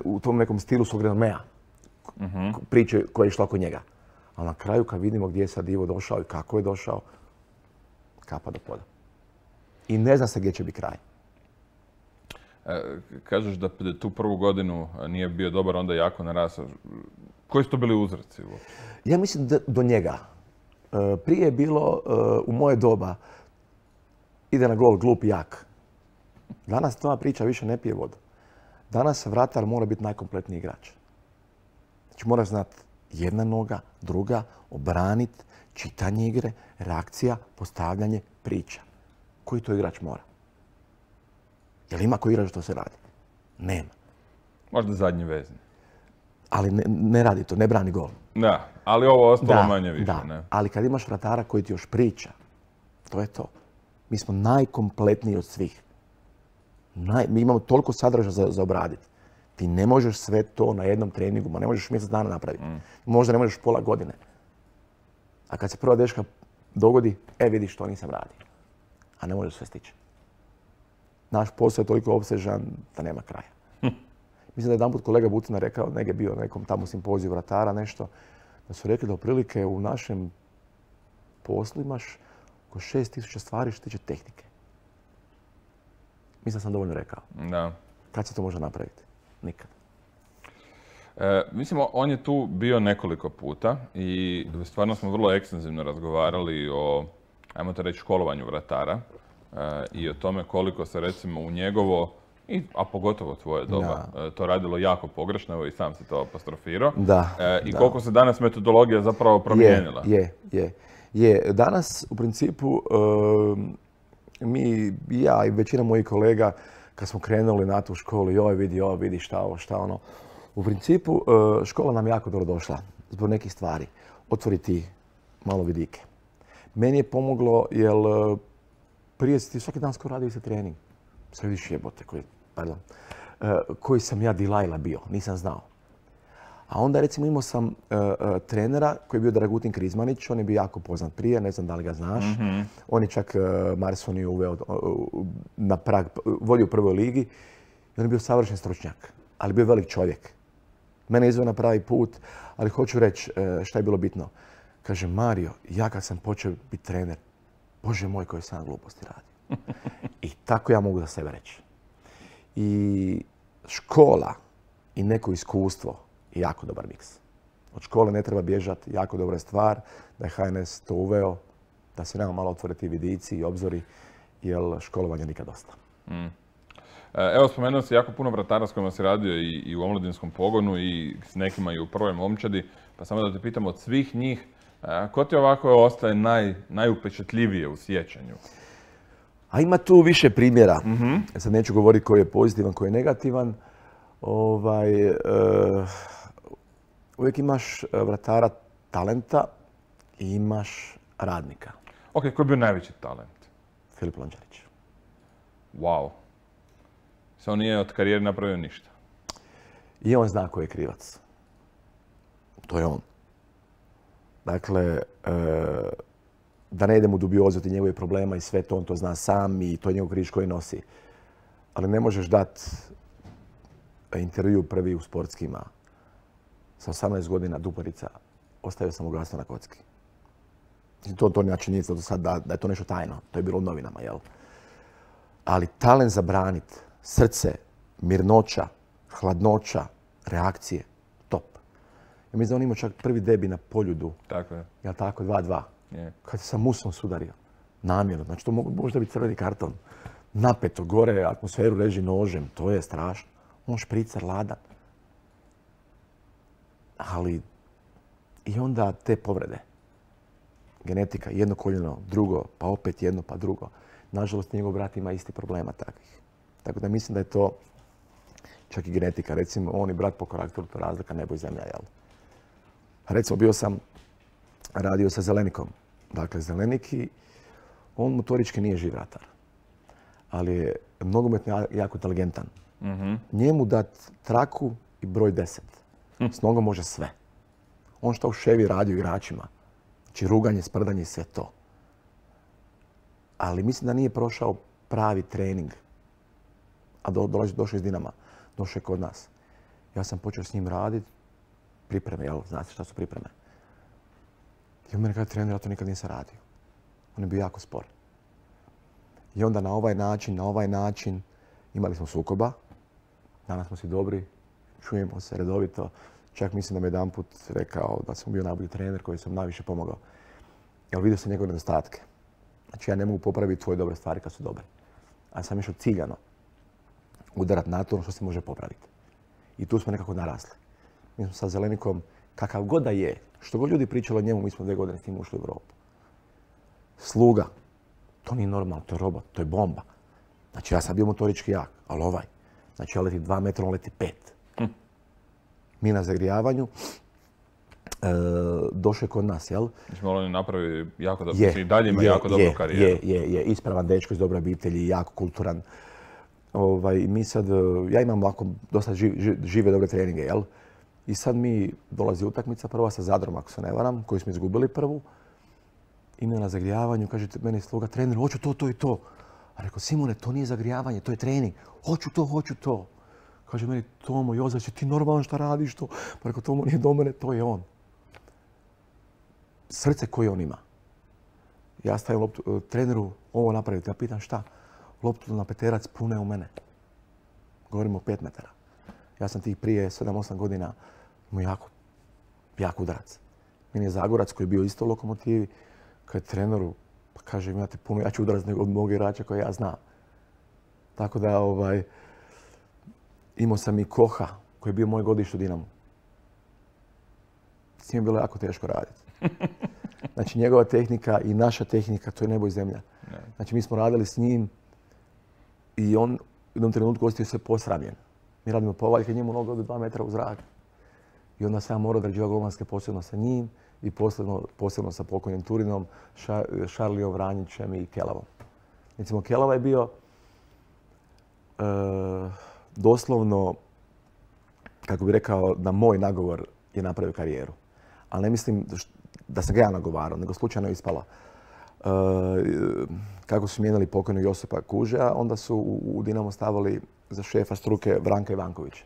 u tom nekom stilu svog renomea priče koja je išla oko njega. Ali na kraju kad vidimo gdje je sad Ivo došao i kako je došao, kapa do poda. I ne zna se gdje će biti kraj. Kažeš da tu prvu godinu nije bio dobar, onda jako narasao. Koji su to bili uzroci? Ja mislim da do njega. Prije je bilo u moje doba ide na gol glup i jak. Danas ta priča više ne pije vodu. Danas vratar mora biti najkompletniji igrač. Znači moraš znati jedna noga, druga, obraniti, čitanje igre, reakcija, postavljanje, priča. Koji to igrač mora? Jel ima koji igrač što se radi? Nema. Možda zadnji vezni. Ali ne radi to, ne brani gol. Da, ali ovo ostalo manje više. Da, ne? Ali kad imaš vratara koji ti još priča, to je to. Mi smo najkompletniji od svih. Mi imamo toliko sadržaja za obraditi. Ti ne možeš sve to na jednom treningu, ma ne možeš mjesec dana napraviti. Možda ne možeš pola godine. A kad se prva deška dogodi, vidiš što nisam radio. A ne možeš sve stići. Naš posao je toliko opsežan da nema kraja. Mislim da je jedanput kolega Bucina rekao, negdje bio na nekom tamo simpoziju vratara, nešto, da su rekli da otprilike u našem poslu imaš oko 6000 stvari što tiče tehnike. Mislim da sam dovoljno rekao. Da. Kad se to može napraviti? Nikad. Mislim, on je tu bio nekoliko puta i stvarno smo vrlo ekstenzivno razgovarali o, ajmo to reći, školovanju vratara i o tome koliko se recimo u njegovo, a pogotovo tvoje doba, to radilo jako pogrešno, evo i sam si to apostrofirao. I koliko se danas metodologija zapravo promijenila. Je. Danas u principu ja i većina mojih kolega kad smo krenuli na tu školu, joj vidi šta ono. U principu škola nam jako dobro došla zbog nekih stvari. Otvoriti malo vidike. Meni je pomoglo jer prije si ti svaki dan skoro radio se trening. Sad vidiš jebote koji sam ja Dilajla bio, nisam znao. A onda recimo imao sam trenera koji je bio Dragutin Krizmanić, on je bio jako poznat prije, ne znam da li ga znaš. On je čak Marsoni uveo na prag, vodio u prvoj ligi i on je bio savršen stručnjak, ali bio velik čovjek. Mene je izveo na pravi put, ali hoću reći šta je bilo bitno. Kaže, Mario, ja kad sam počeo biti trener, Bože moj, koje sam gluposti radio. I tako ja mogu za sebe reći. I škola i neko iskustvo je jako dobar miks. Od škole ne treba bježati, jako dobra stvar da je HNS to uveo, da se nama malo otvore ti vidici i obzori, jer školovanja nikad dosta. Evo, spomenuo si jako puno vratara s kojima si radio i u omladinskom pogonu i s nekima i u prvoj momčadi, pa samo da te pitam od svih njih, ko ti ovako ostaje najupečatljivije u sjećanju? A ima tu više primjera. Sad neću govoriti koji je pozitivan, koji je negativan. Uvijek imaš vratara talenta i imaš radnika. Ok, koji je bio najveći talent? Filip Lončarić. Wow. Samo nije od karijere napravio ništa. I on zna ko je krivac. To je on. Dakle, da ne idemo u dubiozu ti njegove problema i sve to, on to zna sam i to je njegov križ koji nosi. Ali ne možeš dati intervju prvi u sportskima. Sa 18 godina Duparica, ostavio sam bogatstvo na kocki. To nije činjenica do sad da je to nešto tajno. To je bilo u novinama, jel? Ali talent za branit, srce, mirnoća, hladnoća, reakcije, top. Ja mislim da on imao čak prvi debi na Poljudu. Tako je. Jel tako, 2-2. Je. Kad se sa Musom sudario. Namjerno. Znači to možda biti crveni karton. Napeto, gore, atmosferu reži nožem. To je strašno. On špricar, ladan. Ali i onda te povrede. Genetika, jedno koljeno, drugo, pa opet jedno, pa drugo. Nažalost, njegov brat ima isti problema takvih. Tako da mislim da je to čak i genetika. Recimo, on i brat po karakteru, to razlika nebo i zemlja, jel? Recimo, radio sa Zelenikom. Dakle, Zeleniki, on motorički nije živ ratar. Ali je nogometno jako inteligentan. Njemu dat traku i broj 10. S nogom može sve. On što u ševi radio igračima. Znači ruganje, sprdanje i sve to. Ali mislim da nije prošao pravi trening. A došao iz Dinama. Došao je kod nas. Ja sam počeo s njim raditi. Pripreme, jel? Znate šta su pripreme? I on meni kaže, trener, ja to nikad nisam radio. On je bio jako spor. I onda na ovaj način imali smo sukoba. Danas smo svi dobri. Čujemo se redovito. Čak mislim da mi jedanput rekao da sam bio najbolji trener koji sam najviše pomogao. Jer vidio sam njegove nedostatke. Znači ja ne mogu popraviti tvoje dobre stvari kad su dobre. A sam išao ciljano udarati na to što se može popraviti. I tu smo nekako narasli. Mi smo sa Zelenikom, kakav god da je, što god ljudi pričali o njemu, mi smo 2 godine s njim ušli u Europu. Sluga. To nije normalno, to je robot, to je bomba. Znači ja sam bio motorički jak, ali ovaj. Znači ja leti 2 metra, on leti 5. Mi na zagrijavanju, došao je kod nas, jel? Znači, on je napravio jako dobro, i dalje ima jako dobru karijeru. Je, ispravan dečko iz dobre obitelji, jako kulturan. Mi sad, ja imam ovako dosta žive dobre treninge, jel? I sad mi dolazi utakmica prva sa Zadrom, ako se ne varam, koju smo izgubili prvu. I mi na zagrijavanju, kaže meni sluga, trener, hoću to i to. A rekao, Simone, to nije zagrijavanje, to je trening. Hoću to. Kaže meni, Tomo, Jozač, ti normalno šta radiš to? Pa rekao, Tomo nije do mene, to je on. Srce koje on ima. Ja stavim loptu, treneru, ovo napraviti. Ja pitam šta? Loptu na peterac pune u mene. Govorimo o 5 metara. Ja sam tih prije 7-8 godina imao jako udarac. Meni je Zagorac koji je bio isto u Lokomotivi. Kad treneru, pa kaže, imate puno jači udarac nego od mog igrača koje ja znam. Tako da, imao sam i Koha, koji je bio moj godište u Dinamu. S njim je bilo jako teško raditi. Znači, njegova tehnika i naša tehnika, to je nebo i zemlja. Znači, mi smo radili s njim i on u jednom trenutku ostio sve posramljen. Mi radimo povaljke, njemu noga ode 2 metra u zrak. I onda sam ja morao odrađivati golmanske posebno sa njim i posebno sa pokojnim Turinom, Šarlijom, Vranjićem i Kelavom. Recimo, Kelava je bio doslovno, kako bih rekao, na moj nagovor je napravio karijeru. Ali ne mislim da sam ga ja nagovarao, nego slučajno je ispala. Kako su mijenjali pokojnog Josipa Kužeja, onda su u Dinamo stavili za šefa struke Branka Ivankovića.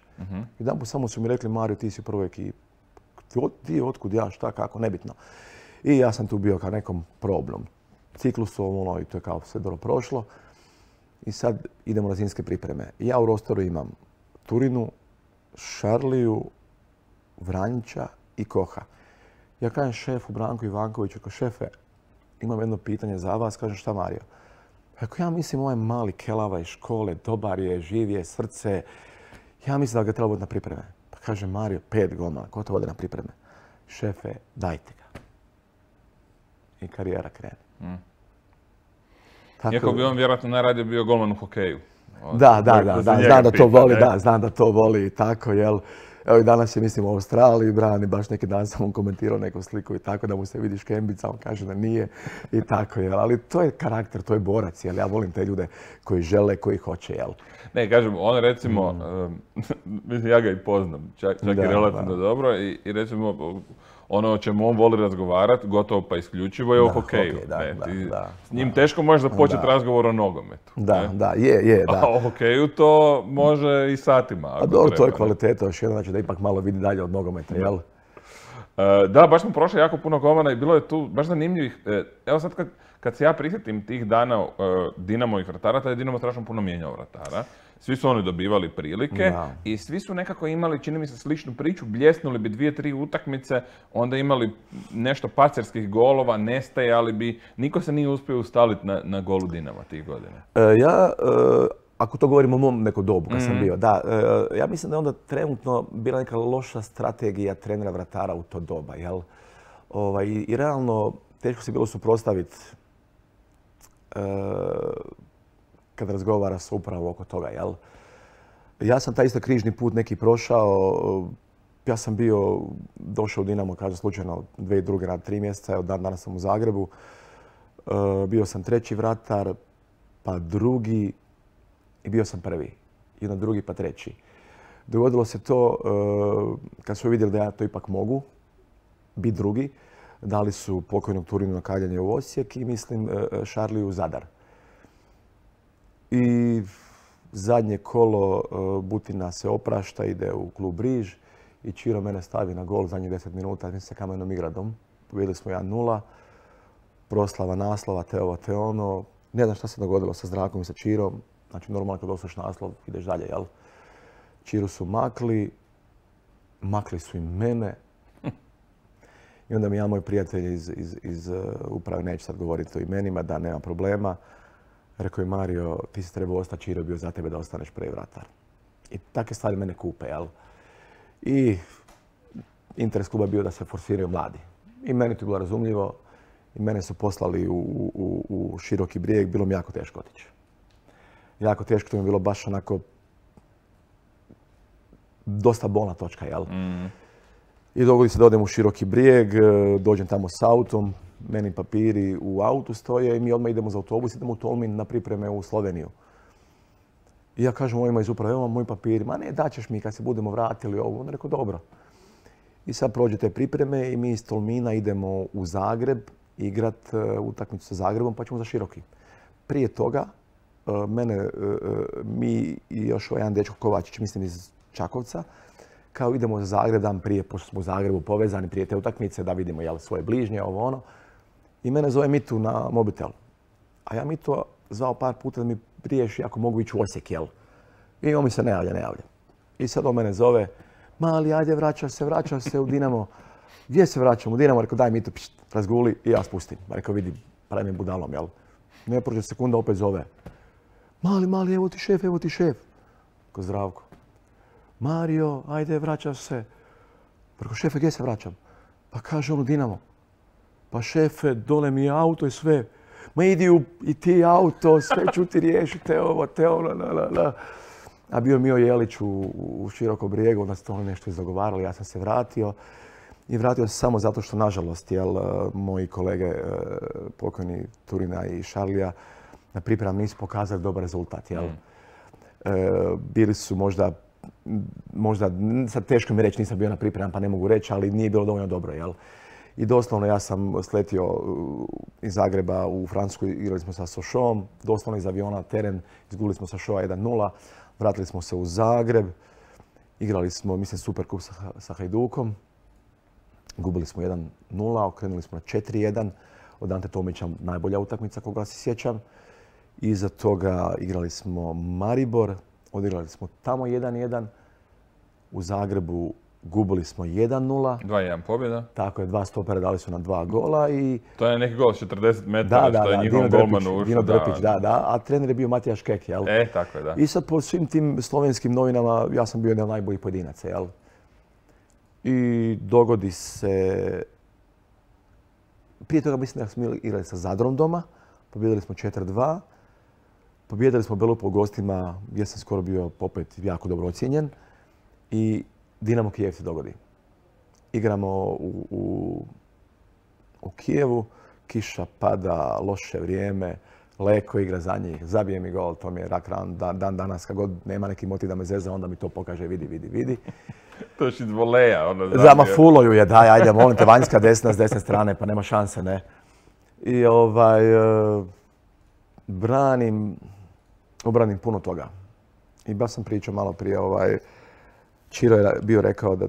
Jedanput samo su mi rekli, Mario, ti si u prvoj ekipi. Ti otkud, ja, šta, kako, nebitno. I ja sam tu bio kao nekom probnom ciklusom, i to je kao sve dobro prošlo. I sad idemo na zimske pripreme. Ja u rosteru imam Turinu, Šarliju, Vranjića i Koha. Ja kažem šefu Branku Ivankoviću, kao šefe, imam jedno pitanje za vas, kažem šta Mario? Ako ja mislim ovaj mali Kelava iz škole, dobar je, živ je, srce, ja mislim da ga treba voditi na pripreme. Pa kaže Mario, 5 golmana, ko to vode na pripreme? Šefe, dajte ga. I karijera krene. Iako bi on vjerojatno najradije bio golman u hokeju. Da, znam da to voli i tako, jel? Evo i danas je, mislim, u Australiji brani, baš neki dan sam on komentirao neku sliku i tako da mu se vidi škembica, on kaže da nije i tako, jel? Ali to je karakter, to je borac, jel? Ja volim te ljude koji žele, koji hoće, jel? Ne, kažem, on recimo, mislim, ja ga i poznam, čak i relativno dobro i recimo ono o čemu on voli razgovarati, gotovo pa isključivo je o hokeju. S njim teško možeš započeti razgovor o nogometu. Je. A o hokeju to može i satima. A dobro, to je kvaliteta, još jedno, znači da ipak malo vidi dalje od nogometa, jel? Da, baš smo prošli jako puno golmana i bilo je tu baš zanimljivih. Evo sad kad se ja prisjetim tih dana Dinamovih vratara, taj je Dinamo strašno puno mijenjao vratara. Svi su oni dobivali prilike i svi su nekako imali, čini mi se, sličnu priču, bljesnuli bi 2-3 utakmice, onda imali nešto pacerskih golova, nestajali bi, niko se nije uspio ustaliti na golu Dinama tih godina. Ako to govorimo o mom neko dobu kad sam bio, ja mislim da je onda trenutno bila neka loša strategija trenera vratara u to doba, jel? I realno teško se bilo suprotstaviti kad razgovara se upravo oko toga, jel? Ja sam taj isto križni put neki prošao. Ja sam došao u Dinamo, kažem slučajno, 2002. na 3 mjeseca, od danas sam u Zagrebu. Bio sam 3. vratar, pa 2. i bio sam 1. I onda 2. pa 3. Dogodilo se to, kad su vidjeli da ja to ipak mogu, biti 2. Dali su pokojnog Turinu na kaljanje u Osijek i mislim Šarliju u Zadar. I zadnje kolo Butina se oprašta, ide u klub Riž i Čiro mene stavi na gol zadnjih 10 minuta, mislim sa Kamenom Igradom. Pobjedili smo 1-0, proslava naslova, te ovo, te ono. Ne znam šta se dogodilo sa Zdrakom i sa Čirom. Znači normalno kad osvojiš naslov ideš dalje, jel? Čiru su makli su i mene. I onda mi ja, moj prijatelj iz uprave, neću sad govoriti o imenima, da nema problema. Rekao je Mario, ti si trebao ostati, Čiro je bio za tebe da ostaneš 1. vratar. I takve stvari mene kupe, jel? I interes kluba je bio da se forsiraju mladi. I meni to je bilo razumljivo. I mene su poslali u Široki Brijeg, bilo mi jako teško otići. Jako teško, to mi je bilo baš onako dosta bolna točka, jel? I dogodi se da odem u Široki Brijeg, dođem tamo s autom, meni papiri u autu stoje i mi odmah idemo za autobus, idemo u Tolmin na pripreme u Sloveniju. I ja kažem ovima iz uprave, evo moji papiri, ma ne, daćeš mi kad se budemo vratili ovo. On rekao, dobro. I sad prođe te pripreme i mi iz Tolmina idemo u Zagreb igrat utakmicu sa Zagrebom, pa ćemo za Široki. Prije toga, mi i još jedan dečko Kovačić, mislim iz Čakovca, kao idemo za Zagreb dan prije, pošto smo u Zagrebu povezani prije te utakmice, da vidimo svoje bližnje, ovo ono. I mene zove Mitu na mobitel. A ja Mitu zvao par puta da mi riješi ako mogu ići u Osijek, jel? I on mi se ne javlja. I sad on mene zove, mali, ajde, vraćaš se u Dinamo. Gdje se vraćam? U Dinamo. Rekao, daj Mitu, razguli i ja spustim. Rekao, vidi, pravi mi budalom, jel? Ne prođe sekunda, opet zove. Mali, evo ti šef. Ko Zdravko. Mario, ajde, vraćaš se. Rekao, šefe, gdje se vraćam? Pa kaže on u Dinamo. Pa šefe, dole mi je auto i sve. Ma idi i ti auto, sve ću ti riješiti, te ovo, te ono, A bio Mio Jelić u Širokom Brijegu, onda se to nešto izdogovarali, ja sam se vratio. I vratio se samo zato što, nažalost, moji kolege, pokojni Turina i Šarlija, na pripremama nisu pokazali dobar rezultat, jel? Bili su možda, sad teško mi reći, nisam bio na pripremama pa ne mogu reći, ali nije bilo dovoljno dobro, jel? I doslovno ja sam sletio iz Zagreba u Francusku, igrali smo sa Sochauxom, doslovno iz aviona teren, izgubili smo Sochauxa 1-0, vratili smo se u Zagreb, igrali smo, mislim, Superkup sa Hajdukom, gubili smo 1-0, okrenuli smo na 4-1, od Ante Tomića najbolja utakmica koga se sjećam. Iza toga igrali smo Maribor, odigrali smo tamo 1-1, u Zagrebu gubili smo 1-0. 2-1 pobjeda. Tako je, 2 stopera dali su na 2 gola i... To je neki gol s 40 metara, što je njihovom golmanu ušao. Dino Drpić, da. A trener je bio Matija Škek, jel? Tako je, da. I sad po svim tim slovenskim novinama ja sam bio jedan od najboljih pojedinaca, jel? I dogodi se... Prije toga mislim da smo igrali sa Zadrom doma, pobjedili smo 4-2. Pobjedili smo Belupo u gostima, gdje sam skoro bio opet jako dobro ocijenjen. I Dinamo Kijev se dogodi. Igramo u Kijevu, kiša pada, loše vrijeme, Leko igra za njih, zabije mi gol, to mi je rak ran dan danas, kad god nema neki motiv da me zeza, onda mi to pokaže, vidi. To još iz voleja, ono zabije. Zama fuloju je, daj, ajde, molim te, vanjska desna s desne strane, pa nema šanse, ne. I obranim puno toga. I baš sam pričao malo prije, Čiro je bio rekao da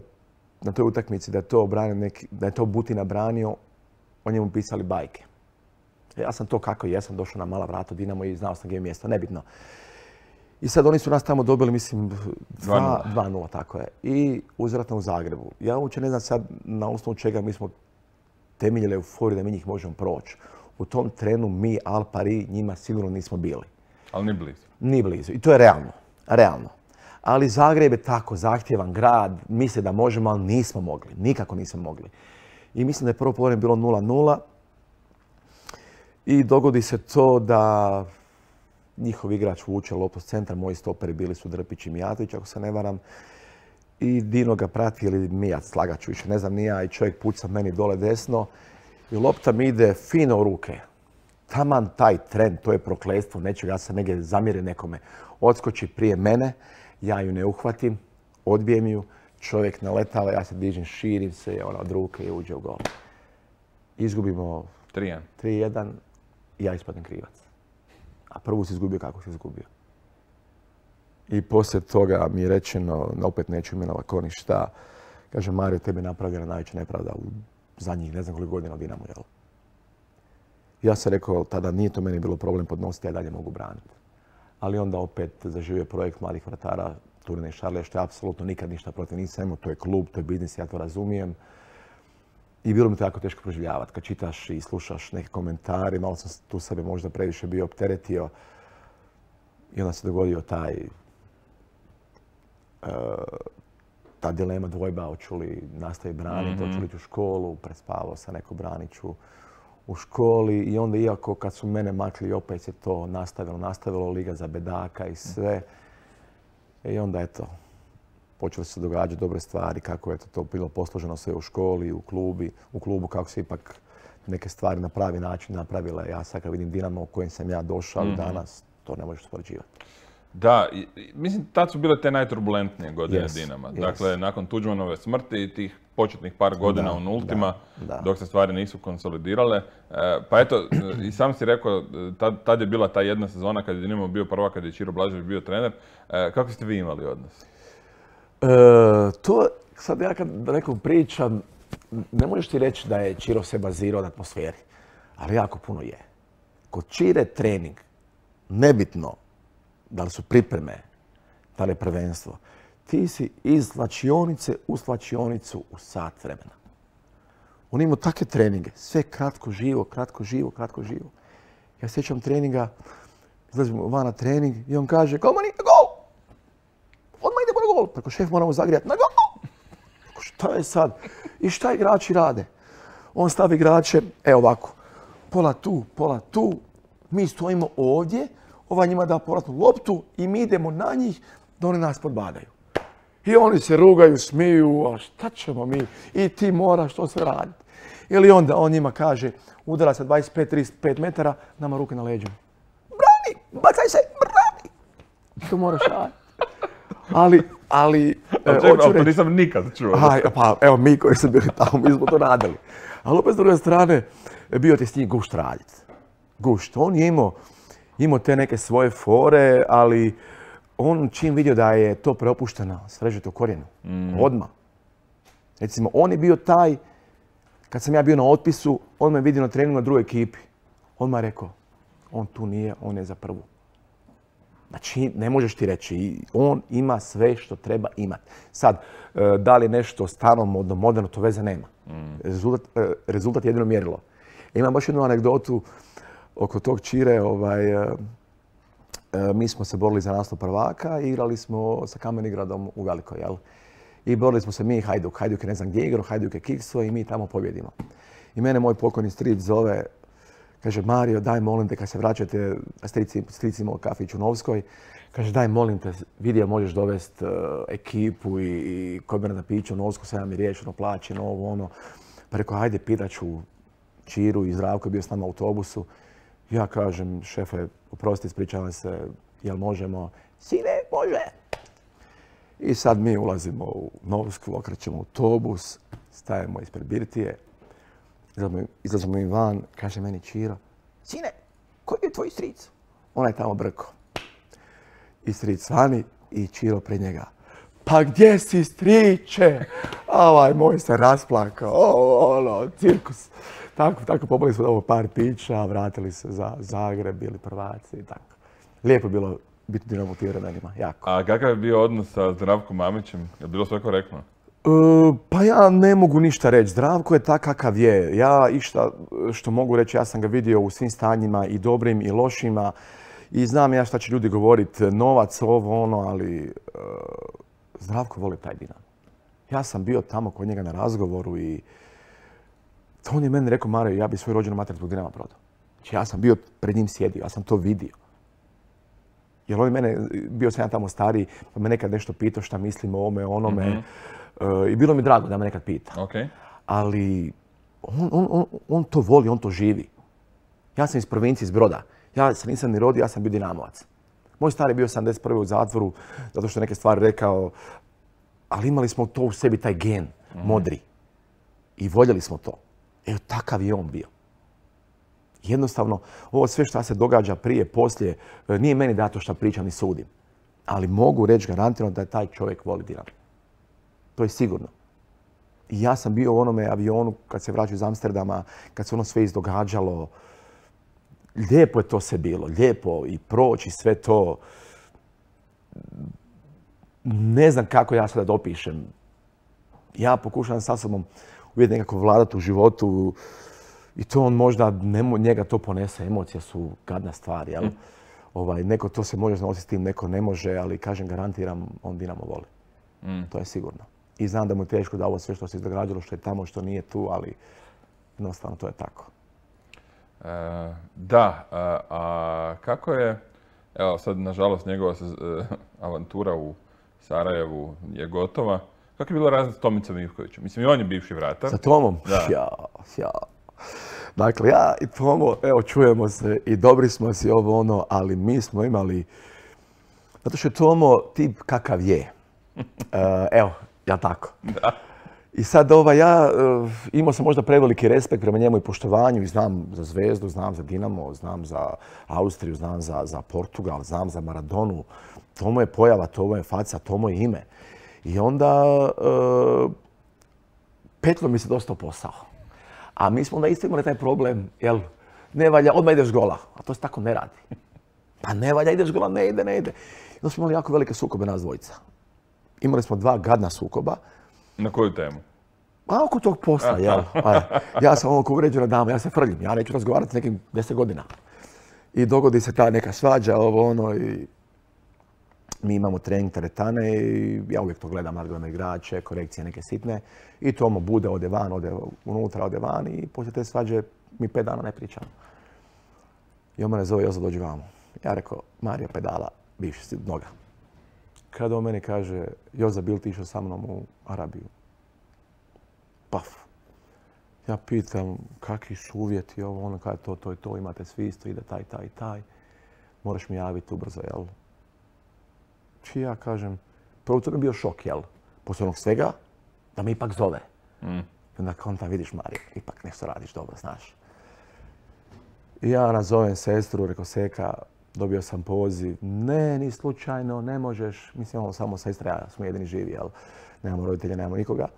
na toj utakmici da je to Butina branio, o njemu pisali bajke. Ja sam to kako jesam, došao na mala vrata Dinamo i znao sam gdje je mjesto, nebitno. I sad oni su nas tamo dobili, mislim, 2-0, tako je. I uzvratno u Zagrebu. Ja uopće ne znam sad na osnovu čega mi smo temeljili euforiju da mi njih možemo proći. U tom trenu mi, Al Pari, njima sigurno nismo bili. Ali ni blizu. Ni blizu. I to je realno. Ali Zagreb je tako zahtjevan grad, misle da možemo, ali nismo mogli. Nikako nismo mogli. I mislim da je prvo polovreme bilo 0-0. I dogodi se to da njihov igrač vuče loptu s centra, moji stoperi bili su Drpić i Mijatović, ako se ne varam. I Dino ga prati, ili Mijac, slagat ću više, ne znam ni ja, i čovjek puca meni dole desno. I lopta mi ide fino u ruke. Taman taj trend, to je prokletstvo nečega, ja sam negdje zamjerio nekome. Odskoči prije mene, ja ju ne uhvatim, odbijem ju, čovjek naletava, ja se dižem, širim se, ona od ruke i uđe u gol. Izgubimo 3-1 i ja ispadnem krivac. A prvu si izgubio kako si izgubio. I poslije toga mi je rečeno, opet neću imenovati ko ni šta, kaže Mario, tebi je napravljena najveća nepravda u zadnjih ne znam koliko godina u Dinamu, jel? Ja sam rekao, tada nije to meni bilo problem podnositi, ja dalje mogu braniti. Ali onda opet zaživio projekt mladih vratara Turine i Šarlija, što je apsolutno nikad ništa protiv nisam imao, to je klub, to je biznis, ja to razumijem. I bilo mi to jako teško proživljavati. Kad čitaš i slušaš neke komentare, malo sam tu sebe možda previše bio opteretio. I onda se dogodio ta dilema, dvojba, hoću li nastaviti braniti, hoću li ići u školu, prespavao sam neko braniću u školi. I onda, iako kad su mene makli, opet se to nastavilo, Liga za bedaka i sve. I onda, eto, počeli se događati dobre stvari, kako je to bilo posloženo sve u školi, u klubu, kako se ipak neke stvari na pravi način napravile. Ja sad kad vidim Dinamo u kojem sam ja došao i danas, to ne možeš uspoređivati. Da, mislim, tad su bile te najturbulentnije godine Dinama. Dakle, nakon Tuđmanove smrti i tih početnih par godina u nultima, dok se stvari nisu konsolidirale. Pa eto, i sam si rekao, tad je bila ta jedna sezona kad je Dinamo bio prvak, kad je Čiro Blažević bio trener. Kako ste vi imali odnos? To, sad ja kad nekom pričam, ne možeš ti reći da je Čiro se bazirao na atmosferi, ali jako puno je. Kod Čire trening, nebitno da li su pripreme, da li je prvenstvo, ti si iz slačionice u slačionicu u sat vremena. On ima takve treninge, sve kratko živo. Ja sjećam treninga, izlazimo van na trening i on kaže, golman ide gol! Odmah idemo na gol! Preko šef moramo zagrijati na gol! Šta je sad? I šta igrači rade? On stavi igrače, evo ovako, pola tu, mi stojimo ovdje, ovaj njima da povratnu loptu i mi idemo na njih da oni nas podbadaju. I oni se rugaju, smiju, a šta ćemo mi? I ti moraš to sve raditi. Ili onda on njima kaže, udara se 25-35 metara, nama ruke na leđima. Brani! Bacaj se! Brani! To moraš raditi. Ali to nisam nikad čuo. Pa evo mi koji smo bili tamo, mi smo to radili. Ali opet s druge strane, bio ti s njim gušt raditi. Gušt. On je imao te neke svoje fore, ali on čim vidio da je to preopušteno, srežete u korijenu. Odmah. Recimo, on je bio taj, kad sam ja bio na otpisu, on me vidio na treningu na drugoj ekipi. On me rekao, on tu nije, on je za prvu. Znači, ne možeš ti reći, on ima sve što treba imati. Sad, da li je nešto stano, moderno, to veze nema. Rezultat je jedino mjerilo. Imam baš jednu anegdotu oko tog Čire. Mi smo se borili za naslov prvaka i igrali smo sa Kamenigradom u Velikoj, jel? I borili smo se mi i Hajduk. Hajduk je ne znam gdje igrao, Hajduk je kikso i mi tamo pobjedimo. I mene moj pokojni stric zove, kaže, Mario, daj molim te kad se vraćate, stric imao kafić u Novskoj, kaže, daj molim te, vidio možeš dovesti ekipu i kod mene na piću u Novsku, sve nam je riješeno, plaćeno, ovo, ono. Pa rekao, hajde, pitaću Čiru i Zdravko je bio s nama u autobusu. Ja kažem, šefe, oprosti, ispričavam se, jel možemo? Sine, može! I sad mi ulazimo u Novsku, okrećemo autobus, stajemo ispred birtije, izlazimo mi van, kaže meni Čiro, sine, koji je tvoj stric? Ona je tamo brko. I stric vani i Čiro pred njega. Pa gdje si, striče? Ovaj moj se rasplakao, cirkus. Tako popili smo ovo par pića, vratili se za Zagreb, bili prvaci i tako. Lijepo je bilo biti Dinamo u tim vremenima, jako. A kakav je bio odnos sa Zdravkom Mamićem? Je bilo sve korektno? Pa ja ne mogu ništa reći. Zdravko je tak kakav je. Ja išta što mogu reći, ja sam ga vidio u svim stanjima i dobrim i lošima. I znam ja šta će ljudi govoriti, novac, ovo, ono, ali Zdravko voli taj Dinamo. Ja sam bio tamo kod njega na razgovoru i on je meni rekao, Mario, ja bi svoju rođenu mater zbog Dinama prodao. Znači ja sam bio pred njim sjedio, ja sam to vidio. Jer on mene, bio sam ja tamo stariji, pa me nekad nešto pitao šta mislim o ovome, onome. I bilo mi drago da me nekad pita. Okay. Ali on to voli, on to živi. Ja sam iz provincije, iz Broda. Ja se nisam ni rodio, ja sam bio Dinamovac. Moj stari je bio 71. u zatvoru, zato što neke stvari rekao, ali imali smo to u sebi, taj gen, modri. I voljeli smo to. Evo, takav je on bio. Jednostavno, ovo sve što se događa prije, poslije, nije meni dato što pričam i sudim. Ali mogu reći garantirano da je taj čovjek voli Dinamo. To je sigurno. I ja sam bio u onome avionu kad se vraćaju iz Amsterdama, kad se ono sve izdogađalo. Lijepo je to sve bilo, lijepo i proći sve to. Ne znam kako ja sada dopišem. Ja pokušavam sa sobom uvijek nekako vladati u životu i to on možda, njega to ponese, emocije su gadna stvar, jel? Neko to se može nositi s tim, neko ne može, ali kažem, garantiram, on Dinamo voli. To je sigurno. I znam da mu je teško da ovo sve što se izdogađalo, što je tamo, što nije tu, ali jednostavno to je tako. A kako je, evo sad nažalost njegova avantura u Sarajevu je gotova. Kako je bilo razlika s Tomicom Ivkovićem? Mislim, i on je bivši vratar. Sa Tomom? Da. Ja. Dakle, ja i Tomo, evo, čujemo se i dobri smo si ovo ono, ali mi smo imali, zato što je Tomo tip kakav je. Evo, ja tako. Da. I sad ja imao sam možda preveliki respekt prema njemu i poštovanju i znam za Zvezdu, znam za Dinamo, znam za Austriju, znam za Portugal, znam za Maradonu. Tomo je pojava, Tomo je faca, Tomo je ime. I onda petlo mi se dosta u posao. A mi smo onda isto imali taj problem, jel, ne valja, odmah ideš gola, a to se tako ne radi. Pa ne valja, ideš gola, ne ide. I onda smo imali jako velike sukobe nas dvojica. Imali smo 2 gadna sukoba. Na koju temu? A oko tog posla, jel. Ja sam ko uređena dama, ja se frljim, ja neću razgovarati s nekim 10 godina. I dogodi se ta neka svađa, ovo ono, i mi imamo trening teretane i ja uvijek to gledam, nadgledam igrače, korekcije neke sitne. I Tomo bude, ode van, ode unutra, ode van i poslije te svađe mi 5 dana ne pričamo. I on mene zove, Jozo, dođi vamo. Ja rekao, Mario pedala, bivši si noga. Kada on meni kaže, Joza, bil ti išao sa mnom u Arabiju? Paf. Ja pitam, kakvi su uvjeti, ovo, ono, kada to i to, imate svi isto, ide taj. Moraš mi javiti ubrzo, jel? Či ja kažem, prvo to mi je bio šok, jel? Poslije onog svega, da me ipak zove. I onda kontam, vidiš, Mario, ipak nešto radiš dobro, znaš. I ja nazovem sestru, rekao, Seka, dobio sam poziv. Ne, ni slučajno, ne možeš. Mislim, imamo samo sestra, ja smo jedini živi, jel? Nemamo roditelja, nemamo nikoga.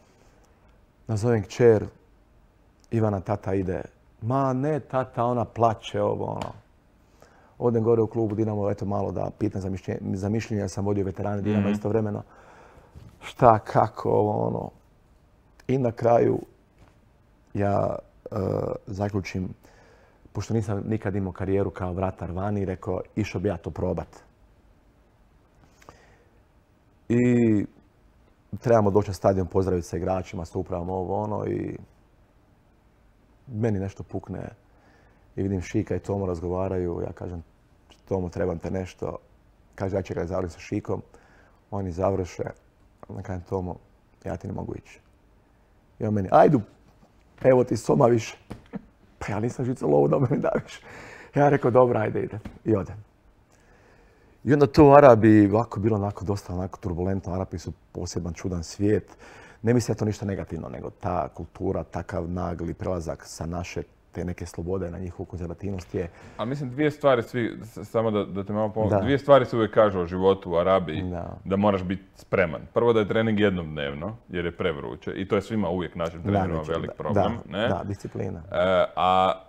Nazovem kćer, Ivana, tata ide. Ma ne, tata, ona plače, ovo, ono. Odem gore u klubu Dinamo, eto malo da pitam za mišljenje, ja sam vodio veterane Dinama istovremeno. Šta, kako, ovo, ono. I na kraju ja zaključim, pošto nisam nikad imao karijeru kao vratar vani, rekao, išao bi ja to probat. I trebamo doći na stadion, pozdraviti se igračima, sa upravom ovo ono i meni nešto pukne i vidim Šika i Tomo razgovaraju. Ja kažem, Tomo, trebam te nešto. Kaže, ja čekaj, završim sa Šikom. Oni završe. Onda kažem, Tomo, ja ti ne mogu ići. I on meni, ajdu, evo ti soma više. Pa ja nisam žica lovu da me daviš. Ja rekao, dobro, ajde, idem. I odem. I onda to u Arabiji ovako bilo onako dosta onako turbulentno. Arapi su poseban, čudan svijet. Ne mislim da to ništa negativno, nego ta kultura, takav nagli prelazak sa naše te neke slobode na njihovu konzervativnost je... Ali mislim, dvije stvari svi, samo da te malo pomogu, dvije stvari se uvijek kažu o životu u Arabiji, da moraš biti spreman. Prvo da je trening jednom dnevno, jer je prevruće, i to je svima uvijek našim trenerima velik problem. Da, disciplina.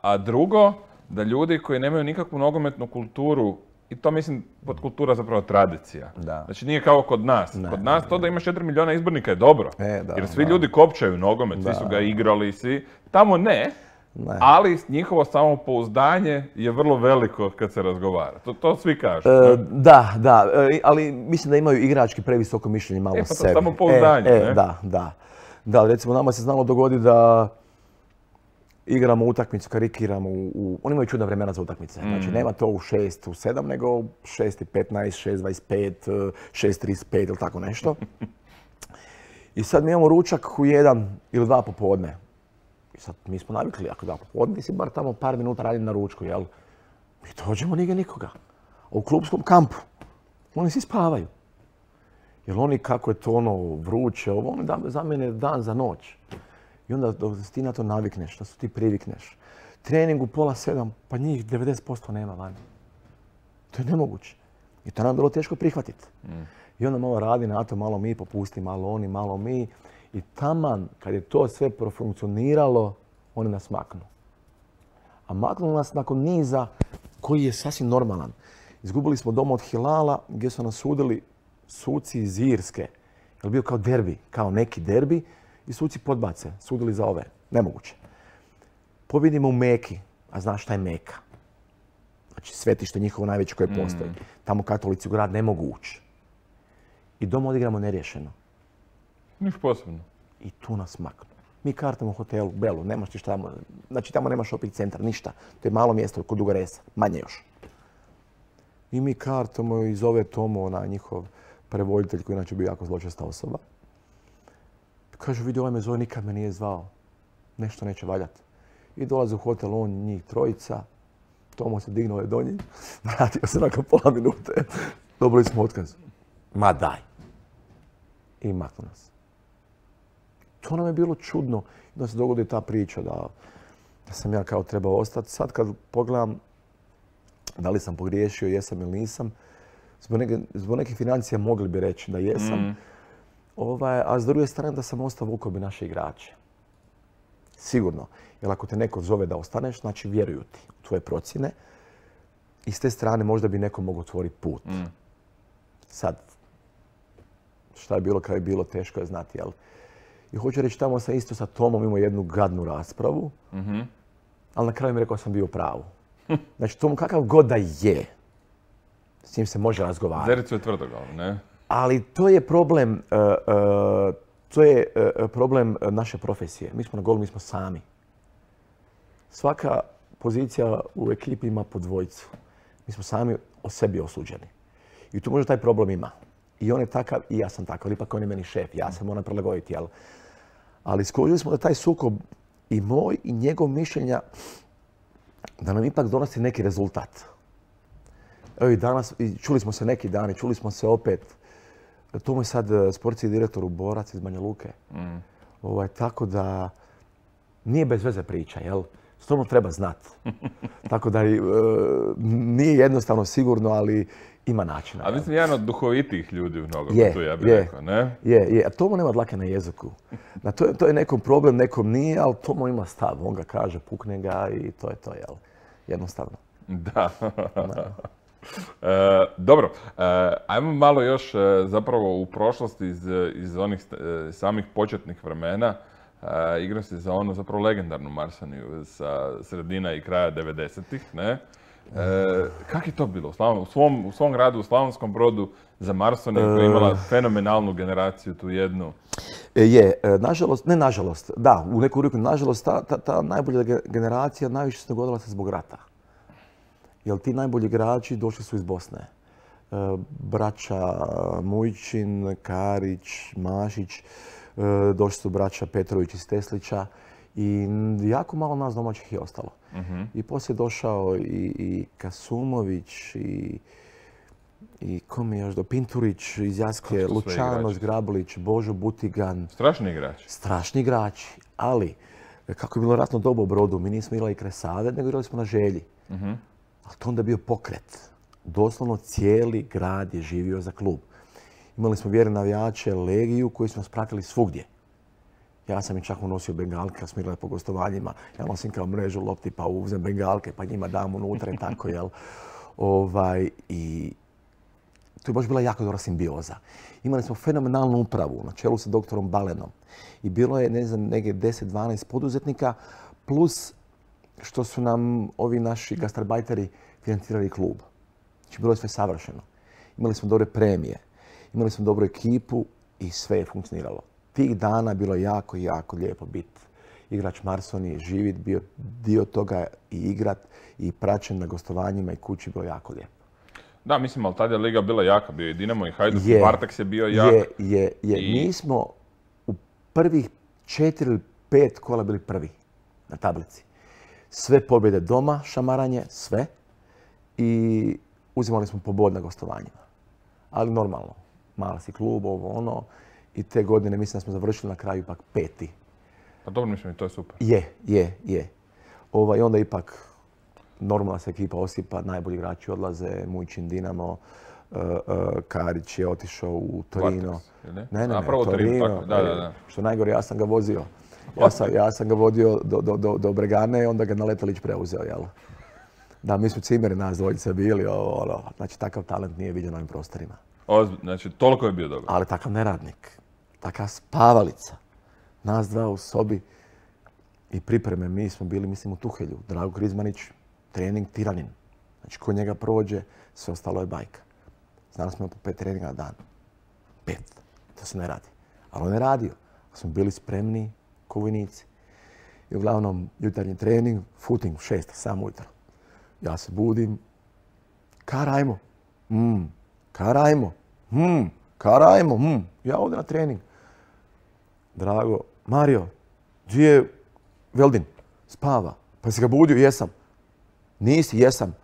A drugo, da ljudi koji nemaju nikakvu nogometnu kulturu, i to mislim pod kultura zapravo tradicija. Znači nije kao kod nas. Kod nas to da imaš 4 milijuna izbornika je dobro. Jer svi ljudi kopčaju nogomet, svi su ga igrali, svi. Tamo ne. Ali njihovo samopouzdanje je vrlo veliko kad se razgovara. To svi kažu. Da, ali mislim da imaju igrački previsoko mišljenje malo o sebi. Samopouzdanje, ne? Da, recimo nama se znalo dogoditi da igramo utakmicu, karikiramo oni imaju čudna vremena za utakmice. Znači nema to u 6, u 7, nego 6:15, 6:25, 6:35 ili tako nešto. I sad mi imamo ručak u 1 ili 2 popodne. I sad mi smo navikli, ako da popodne, ti si bar tamo par minuta radim na ručku, jel? Mi dođemo, nije nikoga. A u klubskom kampu oni svi spavaju. Jer oni, kako je to ono vruće, oni za mene dan za noć. I onda dok ti na to navikneš, da su ti privikneš. Trening u 6:30, pa njih 90% nema vani. To je nemoguće. I to nam je bilo teško prihvatiti. I onda malo radi na to, malo mi popusti, malo oni, malo mi. I taman, kad je to sve profunkcioniralo, oni nas maknu. A maknu nas nakon niza koji je sasvim normalan. Izgubili smo doma od Hilala gdje su nas sudili suci iz Irske. Je bio kao derbi, kao neki derbi i suci podbace, sudili za ove. Nemoguće. Pobjedimo u Meki, a znaš šta je Meka? Znači svetište njihovo najveće koje postoji. Tamo katolici u grad ne mogu ući. I doma odigramo neriješeno. Niš posebno. I tu nas maknu. Mi kartamo u hotelu, Belu, nemaš ti šta tamo. Znači tamo nema shopping centar, ništa. To je malo mjesto kod Duga Resa, manje još. I mi kartamo i zove Tomo, njihov prevoditelj koji inače bio jako zločesta osoba. Kaže, vidi, ovaj me zove, nikad me nije zvao. Nešto neće valjati. I dolaze u hotel, on, njih trojica. Tomo se dignuo je do njih. Vratio se nakon pola minute. Dobili smo otkaz. Ma daj. I maknu nas. To nam je bilo čudno. Da se dogodi ta priča da sam ja kao trebao ostati. Sad kad pogledam da li sam pogriješio, jesam ili nisam, zbog nekih financija mogli bi reći da jesam. A s druge strane da sam ostao vukao bi naše igrače. Sigurno. Jer ako te neko zove da ostaneš, znači vjeruju ti u tvoje procjene. I s te strane možda bi neko mogao otvoriti put. Sad, šta je bilo, kada je bilo, teško je znati, jel? I hoću reći, tamo sam isto sa Tomom imao jednu gadnu raspravu, ali na kraju mi rekao da sam bio u pravu. Znači, Tom kakav god da je, s njim se može razgovarati. Zericu je tvrdoglavo, ne? Ali to je problem naše profesije. Mi smo na golu, mi smo sami. Svaka pozicija u ekipi ima po dvojicu. Mi smo sami o sebi osuđeni. I tu možda taj problem ima. I on je takav i ja sam takav. Ipak on je meni šef. Ja se moram prilagoditi, jel? Ali skužili smo da taj sukob i moj i njegov mišljenja da nam ipak donosi neki rezultat. Evo i danas, čuli smo se neki dani, čuli smo se opet. To mu je sad sportski direktor u Borac iz Banja Luke. Tako da nije bez veze priča, jel? Stvarno treba znati. Tako da nije jednostavno sigurno, ali ima načina. A mislim, jedan od duhovitijih ljudi u nogometu, ja bih rekao, ne? Je. A Tomo nema dlake na jeziku. To je nekom problem, nekom nije, ali Tomo ima stav. On ga kaže, pukne ga i to je to, jel? Jednostavno. Da. Dobro, ajmo malo još zapravo u prošlosti iz onih samih početnih vremena. Igrao si za onu zapravo legendarnu Marsaniju sa sredina i kraja 90-ih, ne? Kako je to bilo u svom gradu, u Slavonskom Brodu, za Marsaniju koja je imala fenomenalnu generaciju, tu jednu? Nažalost, da, u neku ruku nažalost, ta najbolja generacija najviše se dogodila se zbog rata. Jer ti najbolji igrači došli su iz Bosne. Braća Mujčin, Karić, Mašić, došli su braća Petrović iz Teslića I jako malo nas domaćih je ostalo. I poslije je došao i Kasumović i kom je još do Pinturić iz Jaske, Lučano Zgrablić, Božo Butigan. Strašni igrači. Strašni igrači, ali kako je bilo ratno doba u Brodu, mi nismo igrali kraj Save, nego igrali smo na Želji. Ali to onda je bio pokret. Doslovno cijeli grad je živio za klub. Imali smo vjerne navijače, legiju koji su nas pratili svugdje. Ja sam i čak unosio bengalke kad smo igrali po gostovanjima. Ja nosim kao mrežu lopti pa uzem bengalke pa njima dam unutra i tako, jel? I to je baš bila jako dobra simbioza. Imali smo fenomenalnu upravu na čelu sa doktorom Balenom. I bilo je, ne znam, negdje 10-12 poduzetnika, plus što su nam ovi naši gastarbajteri financirali klub. Znači, bilo je sve savršeno. Imali smo dobre premije, imali smo dobru ekipu i sve je funkcioniralo. Tih dana bilo je jako, jako lijepo biti igrač Marsoni, živit, bio dio toga i igrat i praćen na gostovanjima i kući, bilo jako lijepo. Da, mislim, ali tada je liga bila jaka, bio je Dinamo i Hajduk, Varteks je bio jak. Je. Mi smo u prvih 4 ili 5 kola bili prvi na tablici. Sve pobjede doma, šamaranje, sve. I uzimali smo pobod na gostovanjima. Ali normalno, mali si klub, ovo ono. I te godine mislim da smo završili na kraju ipak 5. Pa dobro, mislim, i to je super. Je. I onda ipak normalna se ekipa osipa, najbolji igrači odlaze, Mujčin, Dinamo, Karić je otišao u Torino. Ne, Torino. Da. Što najgore, ja sam ga vozio. Ja sam ga vodio do Bregane, onda ga Naletalić preuzeo, jel? Da, mi smo cimeri nas dvojice bili, znači takav talent nije viđen na ovim prostorima. Znači, toliko je bio dobar. Ali takav neradnik, takav spavalica. Nas dva u sobi i pripreme, mi smo bili, mislim, u Tuhelju. Drago Krizmanić, trening tiranin. Znači, ko njega prođe, sve ostalo je bajka. Znali smo po 5 treninga na dan. 5. To se ne radi. Ali on je radio. Smo bili spremni ko vojnici. I uglavnom, jutarnji trening, footing u 6, sam ujutro. Ja se budim. Karajmo. Karajmo. Karajmo. Ja ovdje na trening. Drago. Mario, gdje je Veldin? Spava. Pa si ga budio? Jesam. Nisi? Jesam.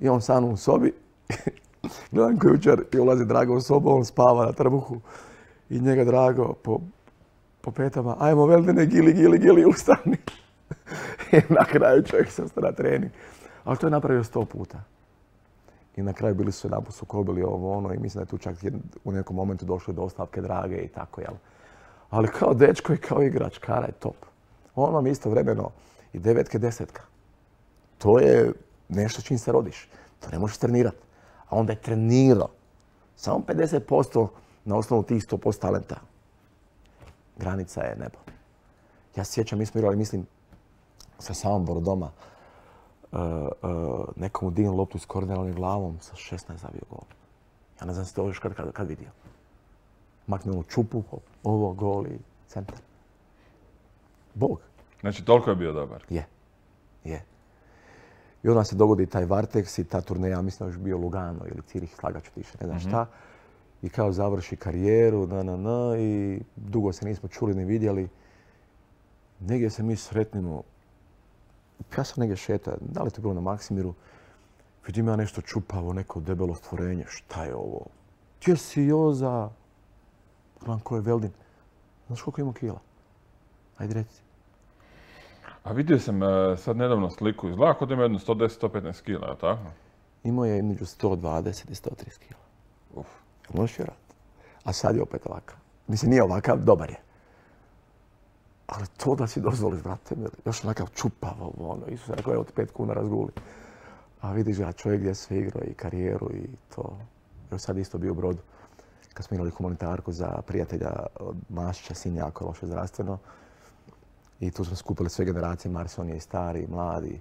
I on sam u sobi. Gledam ko jučer i ulazi Drago u sobu, on spava na trbuhu. I njega Drago po petama. Ajmo Veldine, gili, ustani. I na kraju čovjek se ostane na trening. Ali to je napravio 100 puta. I na kraju bili su jedanput sukobili ovo ono i mislim da je tu čak u nekom momentu došlo do ostavke Drage i tako, jel? Ali kao dečko i kao igrač, Kara je top. On vam istovremeno i 9 10. To je nešto čim se rodiš. To ne možeš trenirati. A onda je trenirao. Samo 50% na osnovu tih 100% talenta. Granica je nebo. Ja se sjećam, mi smo igrali, mislim, sa Samoborom doma. Nekomu dignu loptu s korneralnim glavom, sa 16 zavio gol. Ja ne znam se to još kad vidio. Makne onu čupu, ovo, gol i centar. Bog. Znači, toliko je bio dobar? Je. I onda se dogodi taj Varteks i ta turneja, mislim da je još bio Lugano ili Cirih, slagaću ti više, ne znam šta. I kao završi karijeru, i dugo se nismo čuli ni vidjeli. Negdje se mi sretnimo. Ja sam negdje šetao, da li to bilo na Maksimiru, vidim ja nešto čupavo, neko debelo stvorenje, šta je ovo? Gdje si Joza? Gledam ko je Veldin. Znaš koliko ima kila? Ajde reci. A vidio sam sad nedavno sliku, izgleda kao da ima jedno 110-115 kila, je tako? Imao je između 120 i 130 kila. Možeš vjerati. A sad je opet ovakav. Mislim, nije ovakav, dobar je. Ali to da si dozvoliš, brate, još onakav čupavo, Isus rekao, evo ti 5 kuna razguli. A vidiš ga čovjek gdje sve igrao i karijeru i to. Još sad isto bio u Brodu. Kad smo igrali humanitarku za prijatelja od Mašića, sin jako loše zdravstveno. I tu smo skupili sve generacije, Marson je i stari, i mladi.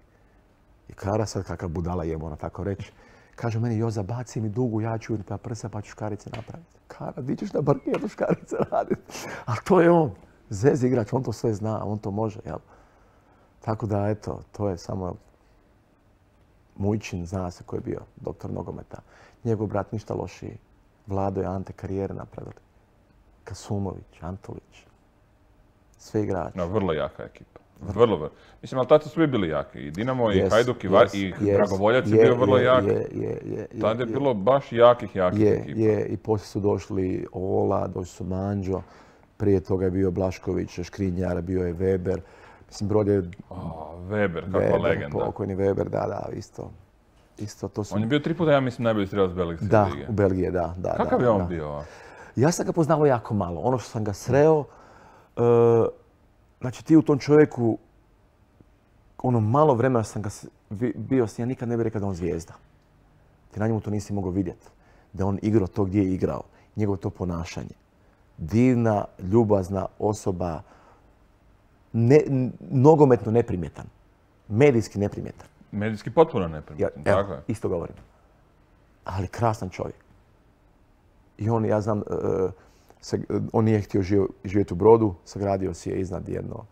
I Kara sad kakav budala jemo, ona tako reći. Kaže meni, Joza, baci mi dugu, ja ću pa prsa pa ću škarice napraviti. Kara, di ćeš na parketu škarice raditi? Ali to je on. Zez igrač, on to sve zna, on to može, jel? Tako da, eto, to je samo Mujčin, zna se ko je bio doktor nogometa. Njegov brat ništa lošiji. Vlado i Ante karijere napravili. Kasumović, Antolić. Sve igrači. No, vrlo jaka ekipa. Vrlo, vrlo. Mislim, ali tad su svi bili jaki. I Dinamo, i Yes, Hajduk, i yes, Dragovoljac je bio vrlo jak. Tad je je. bilo baš jakih ekipa. Je, i poslije su došli Ola, došli su Manđo, prije toga je bio Blašković, Škrinjar, bio je Weber. Mislim, Brod je... Weber, kakva legenda. Pokojni Weber, da, isto to su... On je bio 3 puta, ja mislim, najbolji strelac Belgijske lige. Da, u Belgiji, da. Kakav je on bio? Ja sam ga poznavao jako malo. Ono što sam ga sreo, znači ti u tom čovjeku, ono malo vremena sam ga bio, ja nikad ne bih rekao da on zvijezda. Ti na njemu to nisi mogao vidjeti. Da on igrao to gdje je igrao. Njegovo to ponašanje. Divna, ljubazna osoba, nogometno neprimjetan. Medijski neprimjetan. Medijski potpuno neprimjetan, tako je. Isto govorim. Ali krasan čovjek. I on, ja znam, on nije htio živjeti u Brodu, sagradio si je iznad jedno,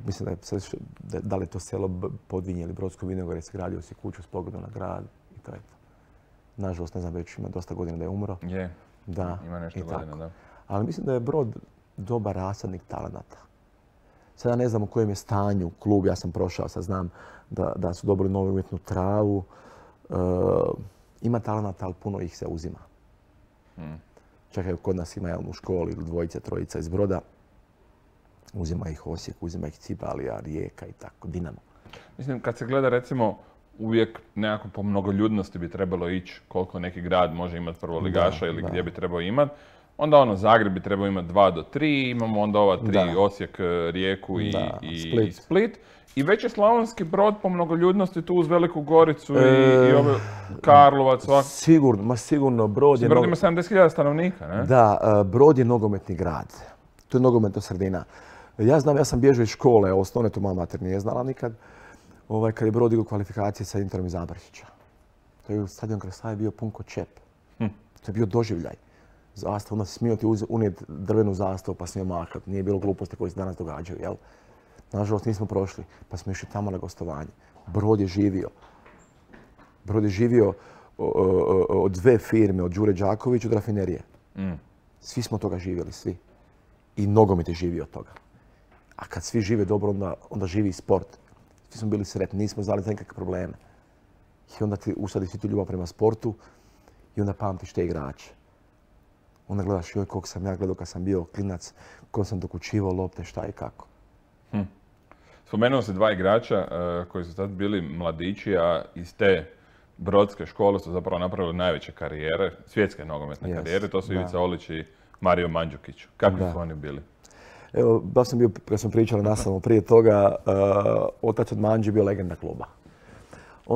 mislim da li je to selo Podvinje ili Brodsko Vinogorje, sagradio si kuću s pogledom na grad i to je to. Nažalost, ne znam, već ima dosta godina da je umro. Je, da, ima nešto godina, da. Ali mislim da je Brod dobar rasadnik talenata. Sada ne znam u kojem je stanju klub, ja sam prošao, sad znam da su dobili novu umjetnu travu. Ima talenata, ali puno ih se uzima. Čak i kod nas ima u školi dvojica, trojica iz Broda. Uzima ih Osijek, uzima ih Cibalija, Rijeka i tako, Dinamo. Mislim, kad se gleda recimo uvijek nekako po mnogoljudnosti bi trebalo ići koliko neki grad može imati prvoligaša ili gdje bi trebao imati. Onda Zagreb bi trebao imati 2 do 3, imamo onda ova 3, Osijek, Rijeku i Split. I već je Slavonski Brod po mnogoljudnosti tu uz Veliku Goricu i Karlovac. Sigurno Brod je... Brod ima 70.000 stanovnika, ne? Da, Brod je nogometni grad. To je nogometna sredina. Ja sam bježao iz škole, osnovne to moja mater nije znala nikad, kad je Brod igrao kvalifikacije sa Interom iz Zabršića. To je stadion Krasaj bio pun ko čep. To je bio doživljaj. Zastav, onda si smio ti unijeti drvenu zastavu pa smio mahati. Nije bilo gluposti koje se danas događaju, jel? Nažalost nismo prošli, pa smo išli tamo na gostovanje. Brod je živio. Brod je živio od 2 firme, od Đure Đaković od rafinerije. Svi smo toga živjeli, svi. I nogomet je živio od toga. A kad svi žive dobro, onda živi i sport. Svi smo bili sretni, nismo znali za nekakve probleme. I onda ti usadi svi ti ljubav prema sportu i onda pamtiš te igrače. Onda gledaš joj koliko sam ja gledao kad sam bio klinac, kako sam dokučivao lopte, šta i kako. Spomenuo se 2 igrača koji su tad bili mladići, a iz te brodske škole su zapravo napravili najveće karijere, svjetske nogometne karijere. To su Ivica Olić i Mario Mandžukić. Kakvi su oni bili? Evo, baš sam bio, kad smo pričali nastavno prije toga, otac od Mandži bio legenda kluba.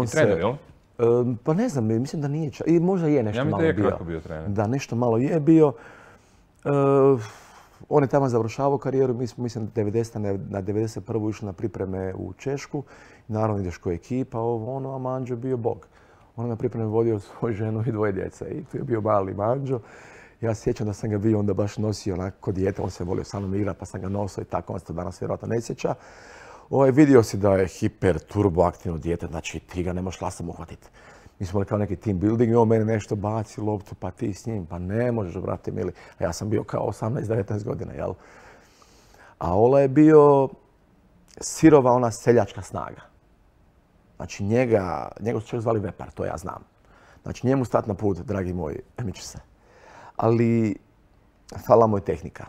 I trener, jel? Pa ne znam, mislim da nije čak. I možda je nešto malo bio. Ja mi je bio trener. Da, nešto malo je bio. On je tamo završavao karijeru, mi smo, mislim, na 91. išli na pripreme u Češku. Naravno ideš ko ekipa, a Mandžo je bio bog. On je na pripreme vodio svoju ženu i 2 djece. I tu je bio mali Mandžo. Ja se sjećam da sam ga bio onda baš nosio onako kod dijete, on se volio sa mnom igrati pa sam ga nosio i tako, on se to danas vjerojatno ne sjeća. Vidio si da je hiper, turbo aktivno dijete, znači ti ga ne možeš lastom uhvatiti. Mi smo kao neki team building i on meni nešto baci loptu, pa ti s njim, pa ne možeš, brate mili. A ja sam bio kao 18-19 godina, jel? A Ola je bio sirova ona seljačka snaga. Znači njega su čak zvali Vepar, to ja znam. Znači njemu stat na put, dragi moj, miče se. Ali fala mu je tehnika.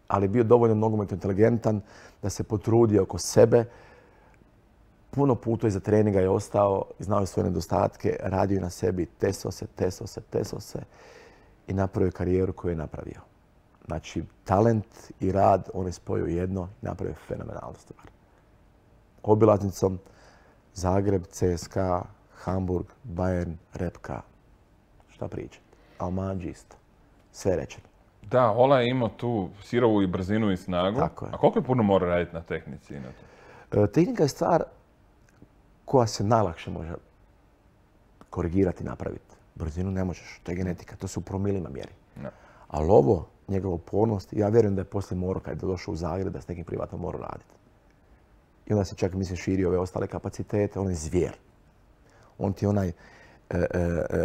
Ali bio dovoljno nogometno inteligentan da se potrudio oko sebe. Puno puta iza treninga je ostao, znao je svoje nedostatke, radio na sebi, tesao se i napravio karijeru koju je napravio. Znači, talent i rad, on je spojio jedno i napravio fenomenalnu stvar. Obilaznicom Zagreb, CSKA, Hamburg, Bayern, Repka. Šta pričati? A Mandži isto. Sve rečeno. Da, Ola je imao tu sirovu i brzinu i snagu. Tako je. A koliko je puno mora raditi na tehnici? Tehnika je stvar koja se najlakše može korigirati i napraviti. Brzinu ne možeš, to je genetika, to se u promilima mjeri. No. Ali ovo, njegova upornost, ja vjerujem da je poslije morao, kad je došao u Zagreb, da s nekim privatno morao raditi. I onda se čak, mislim, širio ove ostale kapacitete, on je zvijer. On ti je onaj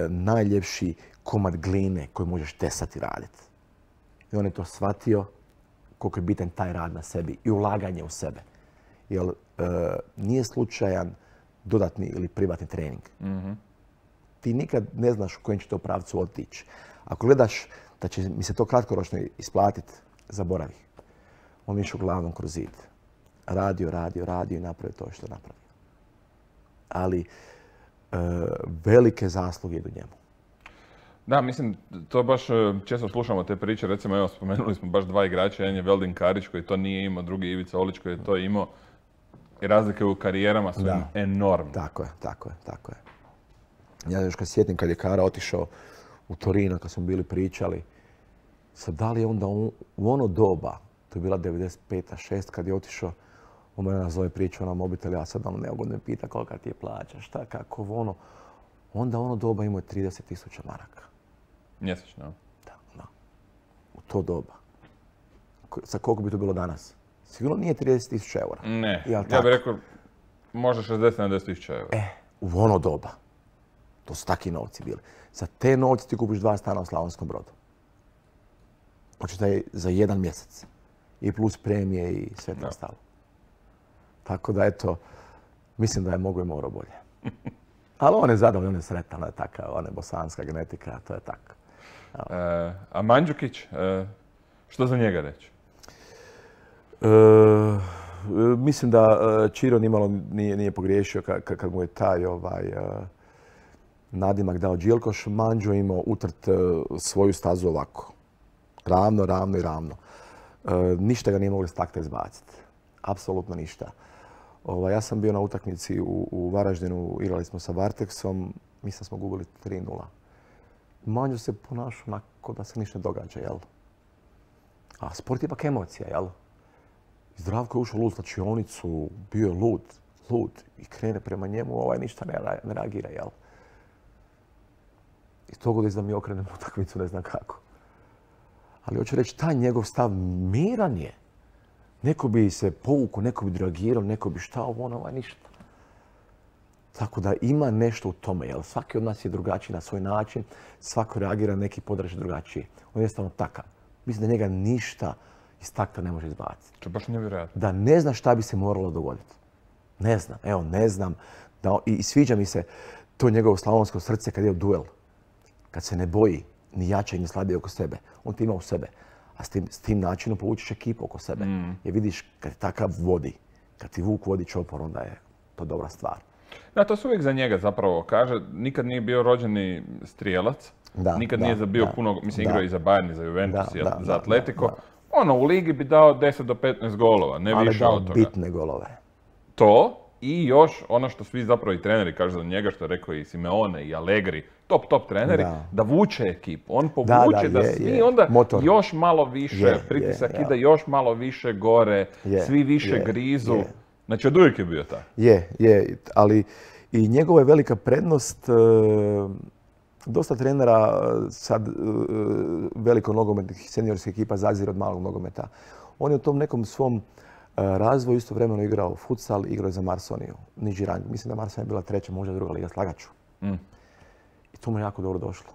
najljepši komad gline koji možeš tesati raditi. I on je to shvatio koliko je bitan taj rad na sebi i ulaganje u sebe. Jer nije slučajan dodatni ili privatni trening. Ti nikad ne znaš u kojem će to pravcu otići. Ako gledaš da će mi se to kratkoročno isplatiti, zaboravi. On je išao glavom kroz zid. Radio i napravio to što je napravio. Ali velike zasluge idu njemu. Da, mislim, to baš često slušamo te priče, recimo evo spomenuli smo baš dva igrača, jedan je Veldin Karić koji to nije imao, drugi je Ivica Olić koji je to imao. I razlike u karijerama su enormne. Tako je. Ja još kad sjetim kad je Kara otišao u Torino, kad smo bili pričali, sad da li je onda u ono doba, to je bila 95-6, kad je otišao, on mene nazove priču na mobitel, ja sad neugodno me pita kolika ti je plaća, šta, kako, ono. Onda ono doba imao je 30.000 maraka. Mjesečno? Da. U to doba. Sa koliko bi to bilo danas? Sigurno nije 30.000 eura. Ne, ja bih rekao možda 60-70.000 eura. U ono doba. To su takvi novci bili. Za te novci ti kupiš 2 stana u Slavonskom Brodu. Očitaj za 1 mjesec. I plus premije i sve to ostalo. Tako da eto, mislim da je mogo i morao bolje. Ali on je zadovoljan, on je sretan, on je takav, on je bosanska genetika, to je tako. A Mandžukić, što za njega reći? Mislim da Čiro nimalo nije pogriješio kad mu je taj nadimak dao Đilkoš. Mandžo imao utrt svoju stazu ovako. Ravno. Ništa ga nije mogli s takta izbaciti. Apsolutno ništa. Ja sam bio na utakmici u Varaždinu, igrali smo sa Varteksom, mislim da smo gubili 3:0. Mandžo se ponašao onako da se ništa ne događa, jel? A sport je ipak emocija, jel? Zdravko je ušao u slačionicu, bio je lud i krene prema njemu, ništa ne reagira, jel? I to god da mi okrenem utakmicu, ne znam kako. Ali hoću reći, taj njegov stav miran je. Neko bi se povukao, neko bi reagirao, neko bi ništa. Tako da ima nešto u tome, jel? Svaki od nas je drugačiji na svoj način, svako reagira neki podraž drugačiji. On je jednostavno takav. Mislim da njega ništa iz takta ne može izbaciti. To je baš nevjerojatno. Da ne zna šta bi se moralo dogoditi. Ne znam. I sviđa mi se to njegovo slavonsko srce kad je u duel. Kad se ne boji ni jače ni slabije oko sebe. On ti ima u sebe. A s tim načinom povučiš ekipu oko sebe. Jer vidiš kad takav vodi, kad ti vuk vodi čopor, onda je to dobra stvar. Da, to se uvijek za njega zapravo kaže. Nikad nije bio rođeni strijelac. Nikad nije bio puno, mislim igrao i za Bayern, i za Juventus, i za Atletico. U ligi bi dao 10 do 15 golova, ne više od toga. Ali bitne golove. To i još ono što svi zapravo i treneri kažu za njega, što je rekao i Simeone i Allegri, top treneri, da vuče ekipu. On povuče da svi onda još malo više pritisak ide, još malo više gore, svi više grizu. Znači od uvijek je bio tako. Je, ali i njegova je velika prednost. Dosta trenera sad veliko nogometnih seniorskih ekipa zazire od malog nogometa. On je u tom nekom svom razvoju istovremeno igrao futsal, igrao je za Marsoniju, niži rang. Mislim da Marsonija je bila 3., možda 2. liga, slagaću. I to mu je jako dobro došlo.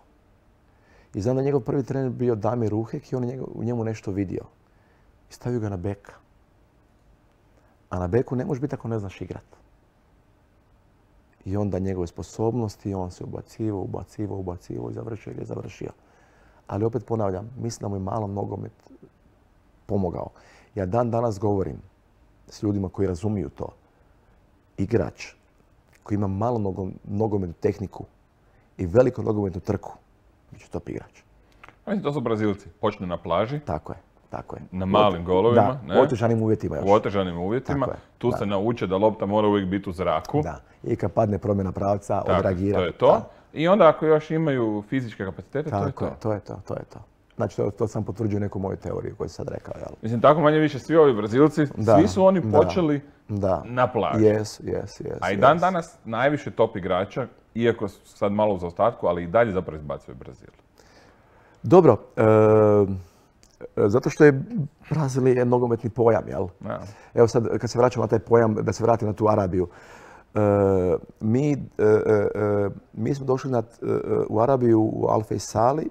I znam da njegov prvi trener bio Damir Ruhek i on je u njemu nešto vidio. I stavio ga na beka. A na beku ne možeš biti ako ne znaš igrat. I onda njegove sposobnosti, on se ubacivao i završio. Ali opet ponavljam, mislim da mu je malo nogomet pomogao. Ja dan danas govorim s ljudima koji razumiju to. Igrač koji ima malo nogometnu tehniku i veliku nogometnu trku, bit će top igrač. Mislim, to su Brazilci. Počne na plaži. Tako je. Na malim golovima. Da, u otežanim uvjetima još. U otežanim uvjetima. Tu se nauče da lopta mora uvijek biti u zraku. Da. I kad padne promjena pravca, odreagirati. To je to. I onda ako još imaju fizičke kapacitete, to je to. To je to. Znači, to sam potvrđio neku moju teoriju koju sam sad rekao. Jel? Mislim, tako manje više svi ovi Brazilci, svi su oni počeli na plaži. Yes. A i dan danas najviše top igrača, iako sad malo u zaostatku, ali i dalje zapravo izbacuju Brazil. Dobro. Zato što je Brazil je nogometni pojam, jel? Ja. Evo sad, kad se vraćamo na taj pojam, da se vratim na tu Arabiju. Mi smo došli u Arabiju u Al Faisali.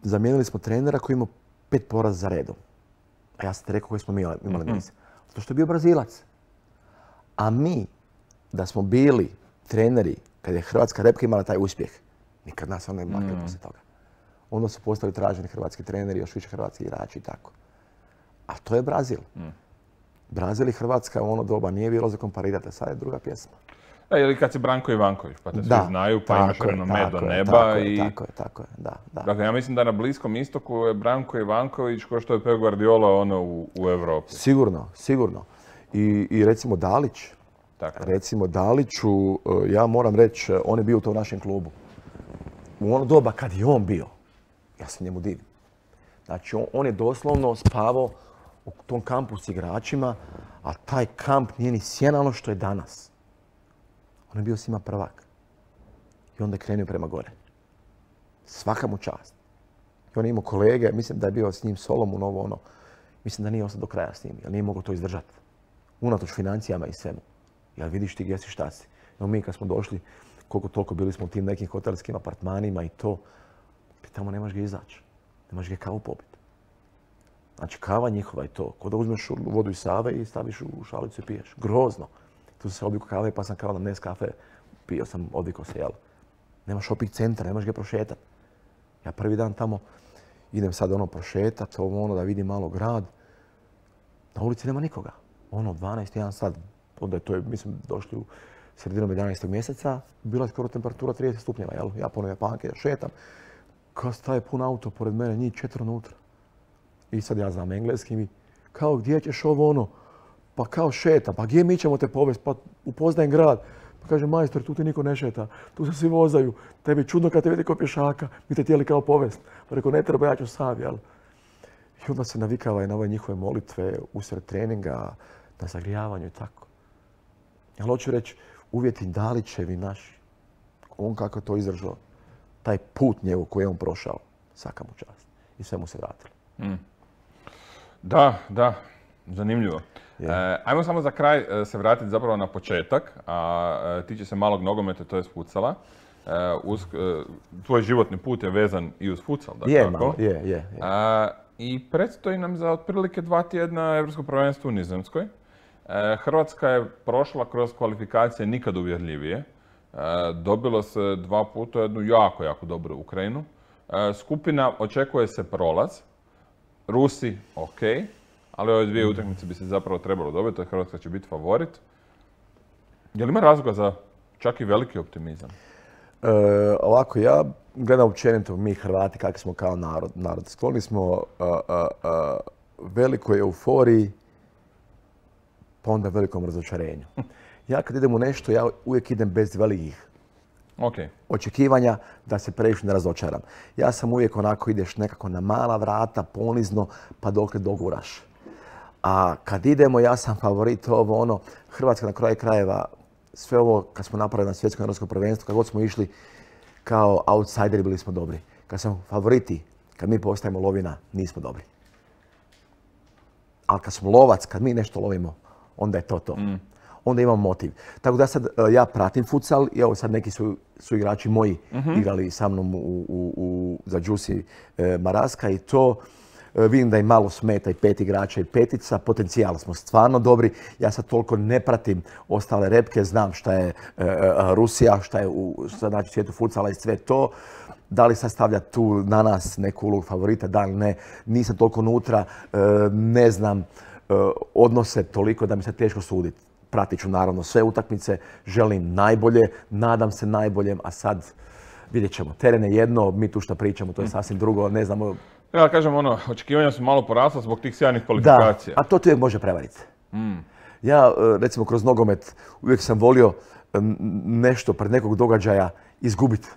Zamijenili smo trenera koji imao 5 poraza za redom. A ja sam ti rekao koji smo mi imali niz. Zato što je bio Brazilac. A mi, da smo bili treneri, kad je hrvatska repka imala taj uspjeh, nikad nas onda ne makli poslije toga. Onda su postali traženi hrvatski treneri, još više hrvatski igrači i tako. A to je Brazil. Brazil i Hrvatska u ono doba nije bilo za komparirati, sad je druga pjesma. Ili kad si Branko Ivanković, pa te svi znaju, pa imaš renome do neba. Tako je, da. Dakle, ja mislim da na Bliskom istoku je Branko Ivanković ko što je Pep Guardiola u Europi. Sigurno. I recimo Dalić. Recimo Daliću, ja moram reći, on je bio u tom našem klubu. U ono doba kad je on bio, ja se njemu divim. Znači, on je doslovno spavao u tom kampu s igračima, a taj kamp nije ni sjena ono što je danas. On je bio svima prvak. I onda je krenuo prema gore. Svaka mu čast. I on je imao kolege, mislim da je bio s njim Solomon, ono. Mislim da nije ostao do kraja s njim, jer nije mogao to izdržati. Unatoč financijama i svemu. Jer vidiš ti gdje si, šta si. Evo mi kad smo došli, koliko toliko bili smo u tim nekim hotelskim apartmanima i to, tamo nemaš gdje izaći. Nemaš gdje kavu popiti. Znači kava njihova i to. Ko da uzmeš vodu iz Save i staviš u šalicu i piješ. Grozno. Tu sam se odvikao kave pa sam kao na Nescafe pio sam, odvikao se, jel? Nemaš shopping centra, nemaš gdje prošetat. Ja prvi dan tamo idem sad prošetat, da vidim malo grad. Na ulici nema nikoga. 12, 1 sat. Onda je to, mislim, došli u sredinom 11. mjeseca. Bila je skoro temperatura 30 stupnjeva, jel? Ja ponovno Japanke, ja šetam. Kao staje pun auto pored mene, njih 4 unutra. I sad ja znam engleski mi, kao gdje ćeš pa kao šeta, pa gdje mi ćemo te povesti, pa upoznajem grad. Pa kaže, majstor, tu ti niko ne šeta, tu se svi vozaju, tebi čudno kad te vidi kao pješaka, mi te htjeli kao povest. Pa rekao, ne treba, ja ću sam, jel? I onda se navikava i na ove njihove molitve, usred treninga, na zagrijavanju i tako. Ja hoću reći, uvjeti Dalićevi naši, on kako je to izdržao, taj put njegov koji je on prošao, svaka mu čast. I sve mu se vratilo. Da, zanimljivo. Ajmo samo za kraj se vratiti zapravo na početak, a tiče se malog nogometa, to je futsala. Tvoj životni put je vezan i uz futsal, dakako. Je. I predstoji nam za otprilike 2 tjedna Europsko prvenstvo u Nizozemskoj. Hrvatska je prošla kroz kvalifikacije nikad uvjerljivije. Dobilo se 2 puta jednu jako dobru Ukrajinu. Skupina očekuje se prolaz. Rusi, ok, ali ove 2 utakmice bi se zapravo trebalo dobiti, a Hrvatska će biti favorit. Je li ima razloga za čak i veliki optimizam? Ovako, ja gledam općenito mi Hrvati kakvi smo kao narod. Skloni smo velikoj euforiji, pa onda velikom razočarenju. Ja kad idem u nešto, ja uvijek idem bez velikih očekivanja da se previše ne razočaram. Ja sam uvijek onako, ideš nekako na mala vrata, ponizno, pa dokle doguraš. A kad idemo, ja sam favorit Hrvatska na kraju krajeva, sve ovo kad smo napravili na svjetskom europskom prvenstvu, kad god smo išli kao outsideri, bili smo dobri. Kad smo favoriti, kad mi postajemo lovina, nismo dobri. Ali kad smo lovac, kad mi nešto lovimo, onda je to. Onda imam motiv. Tako da sad ja pratim futsal i evo sad neki su igrači moji igrali sa mnom za Đusi Maraska i to. Vidim da im malo smeta i 5 igrača i 5-ica. Potencijal smo stvarno dobri. Ja sad toliko ne pratim ostale repke. Znam šta je Rusija, šta je u svijetu futsala i sve to. Da li sad stavlja tu na nas neku ulogu favorita, da li ne. Nisam toliko unutra. Ne znam odnose toliko da mi se teško suditi. Pratit ću naravno sve utakmice, želim najbolje, nadam se najboljem, a sad vidjet ćemo. Teren je jedno, mi tu što pričamo, to je sasvim drugo, ne znamo. Ja kažem očekivanja su malo porasla zbog tih sjajnih kvalifikacija. Da, a to ti uvijek može prevariti. Ja, recimo, kroz nogomet uvijek sam volio nešto pred nekog događaja izgubiti.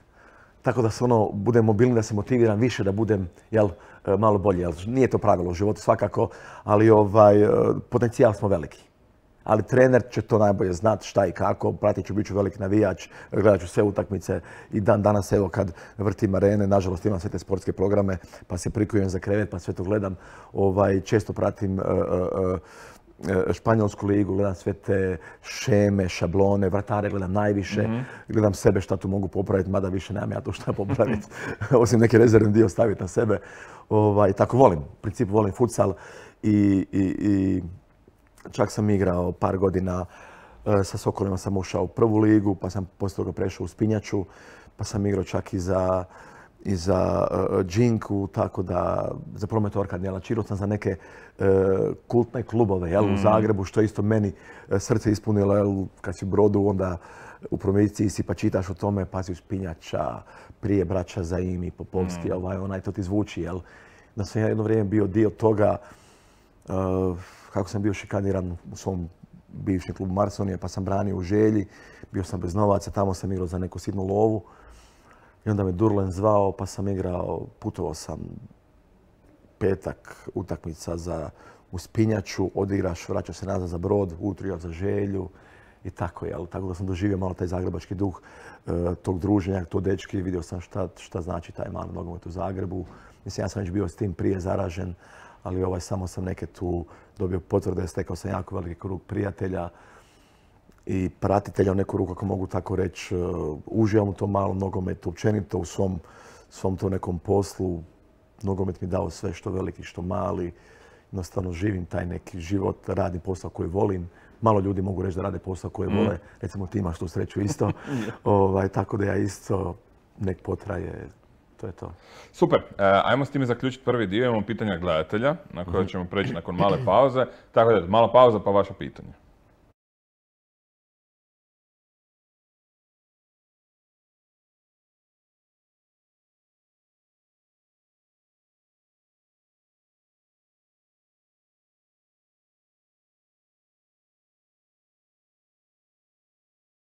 Tako da se budem mobilni, da se motiviram više, da budem malo bolji. Nije to pravilo u životu svakako, ali potencijal smo veliki. Ali trener će to najbolje znati šta i kako, pratit ću, bit ću veliki navijač, gledat ću sve utakmice i danas evo kad vrtim arene, nažalost imam sve te sportske programe pa se prikujem za krevet pa sve to gledam. Često pratim Španjolsku ligu, gledam sve te šeme, šablone, vratare gledam najviše, gledam sebe šta tu mogu popraviti, mada više nemam ja tu šta popraviti, osim neki rezervni dio staviti na sebe. Tako volim, u principu volim futsal i čak sam igrao par godina sa Sokolima, sam ušao u prvu ligu, pa sam poslije toga prešao u Spinjaču, pa sam igrao čak i za Džinku, tako da za Promet Orkad, čirao sam za neke kultne klubove u Zagrebu, što je isto meni srce ispunilo, kad si u Brodu, onda u promociji si pa čitaš o tome, pazi u Spinjača, prije braća Zaimi, Popovski, to ti zvuči, da sam ja jedno vrijeme bio dio toga, kako sam bio šikaniran u svom bivšem klubu Marsonije, pa sam branio u Želji, bio sam bez novaca, tamo sam igrao za neku sitnu lovu. I onda me Durlen zvao, pa sam igrao, putovao sam petak, utakmica u Spinjaču, odigraš, vraćao se nazad za Brod, ujutro igrao za Želju i tako, tako da sam doživio malo taj zagrebački duh tog druženja, to dečki, vidio sam šta znači taj mali nogomet u Zagrebu. Mislim, ja sam već bio s tim prije zaražen, ali samo sam neke tu dobio potvrde, stekao sam jako veliki krug prijatelja i pratitelja u neku ruku, ako mogu tako reći. Uživam u tom malom nogometu, općenito u svom tom nekom poslu. Nogomet mi dao sve, što veliki, što mali. Jednostavno živim taj neki život, radim posao koji volim. Malo ljudi mogu reći da rade posao koji vole. Recimo ti imaš tu sreću isto. Tako da ja isto nek potraje. To je to. Super. Ajmo s time zaključiti prvi dio. Imamo pitanja gledatelja na koje ćemo preći nakon male pauze. Tako da, mala pauza pa vaša pitanja.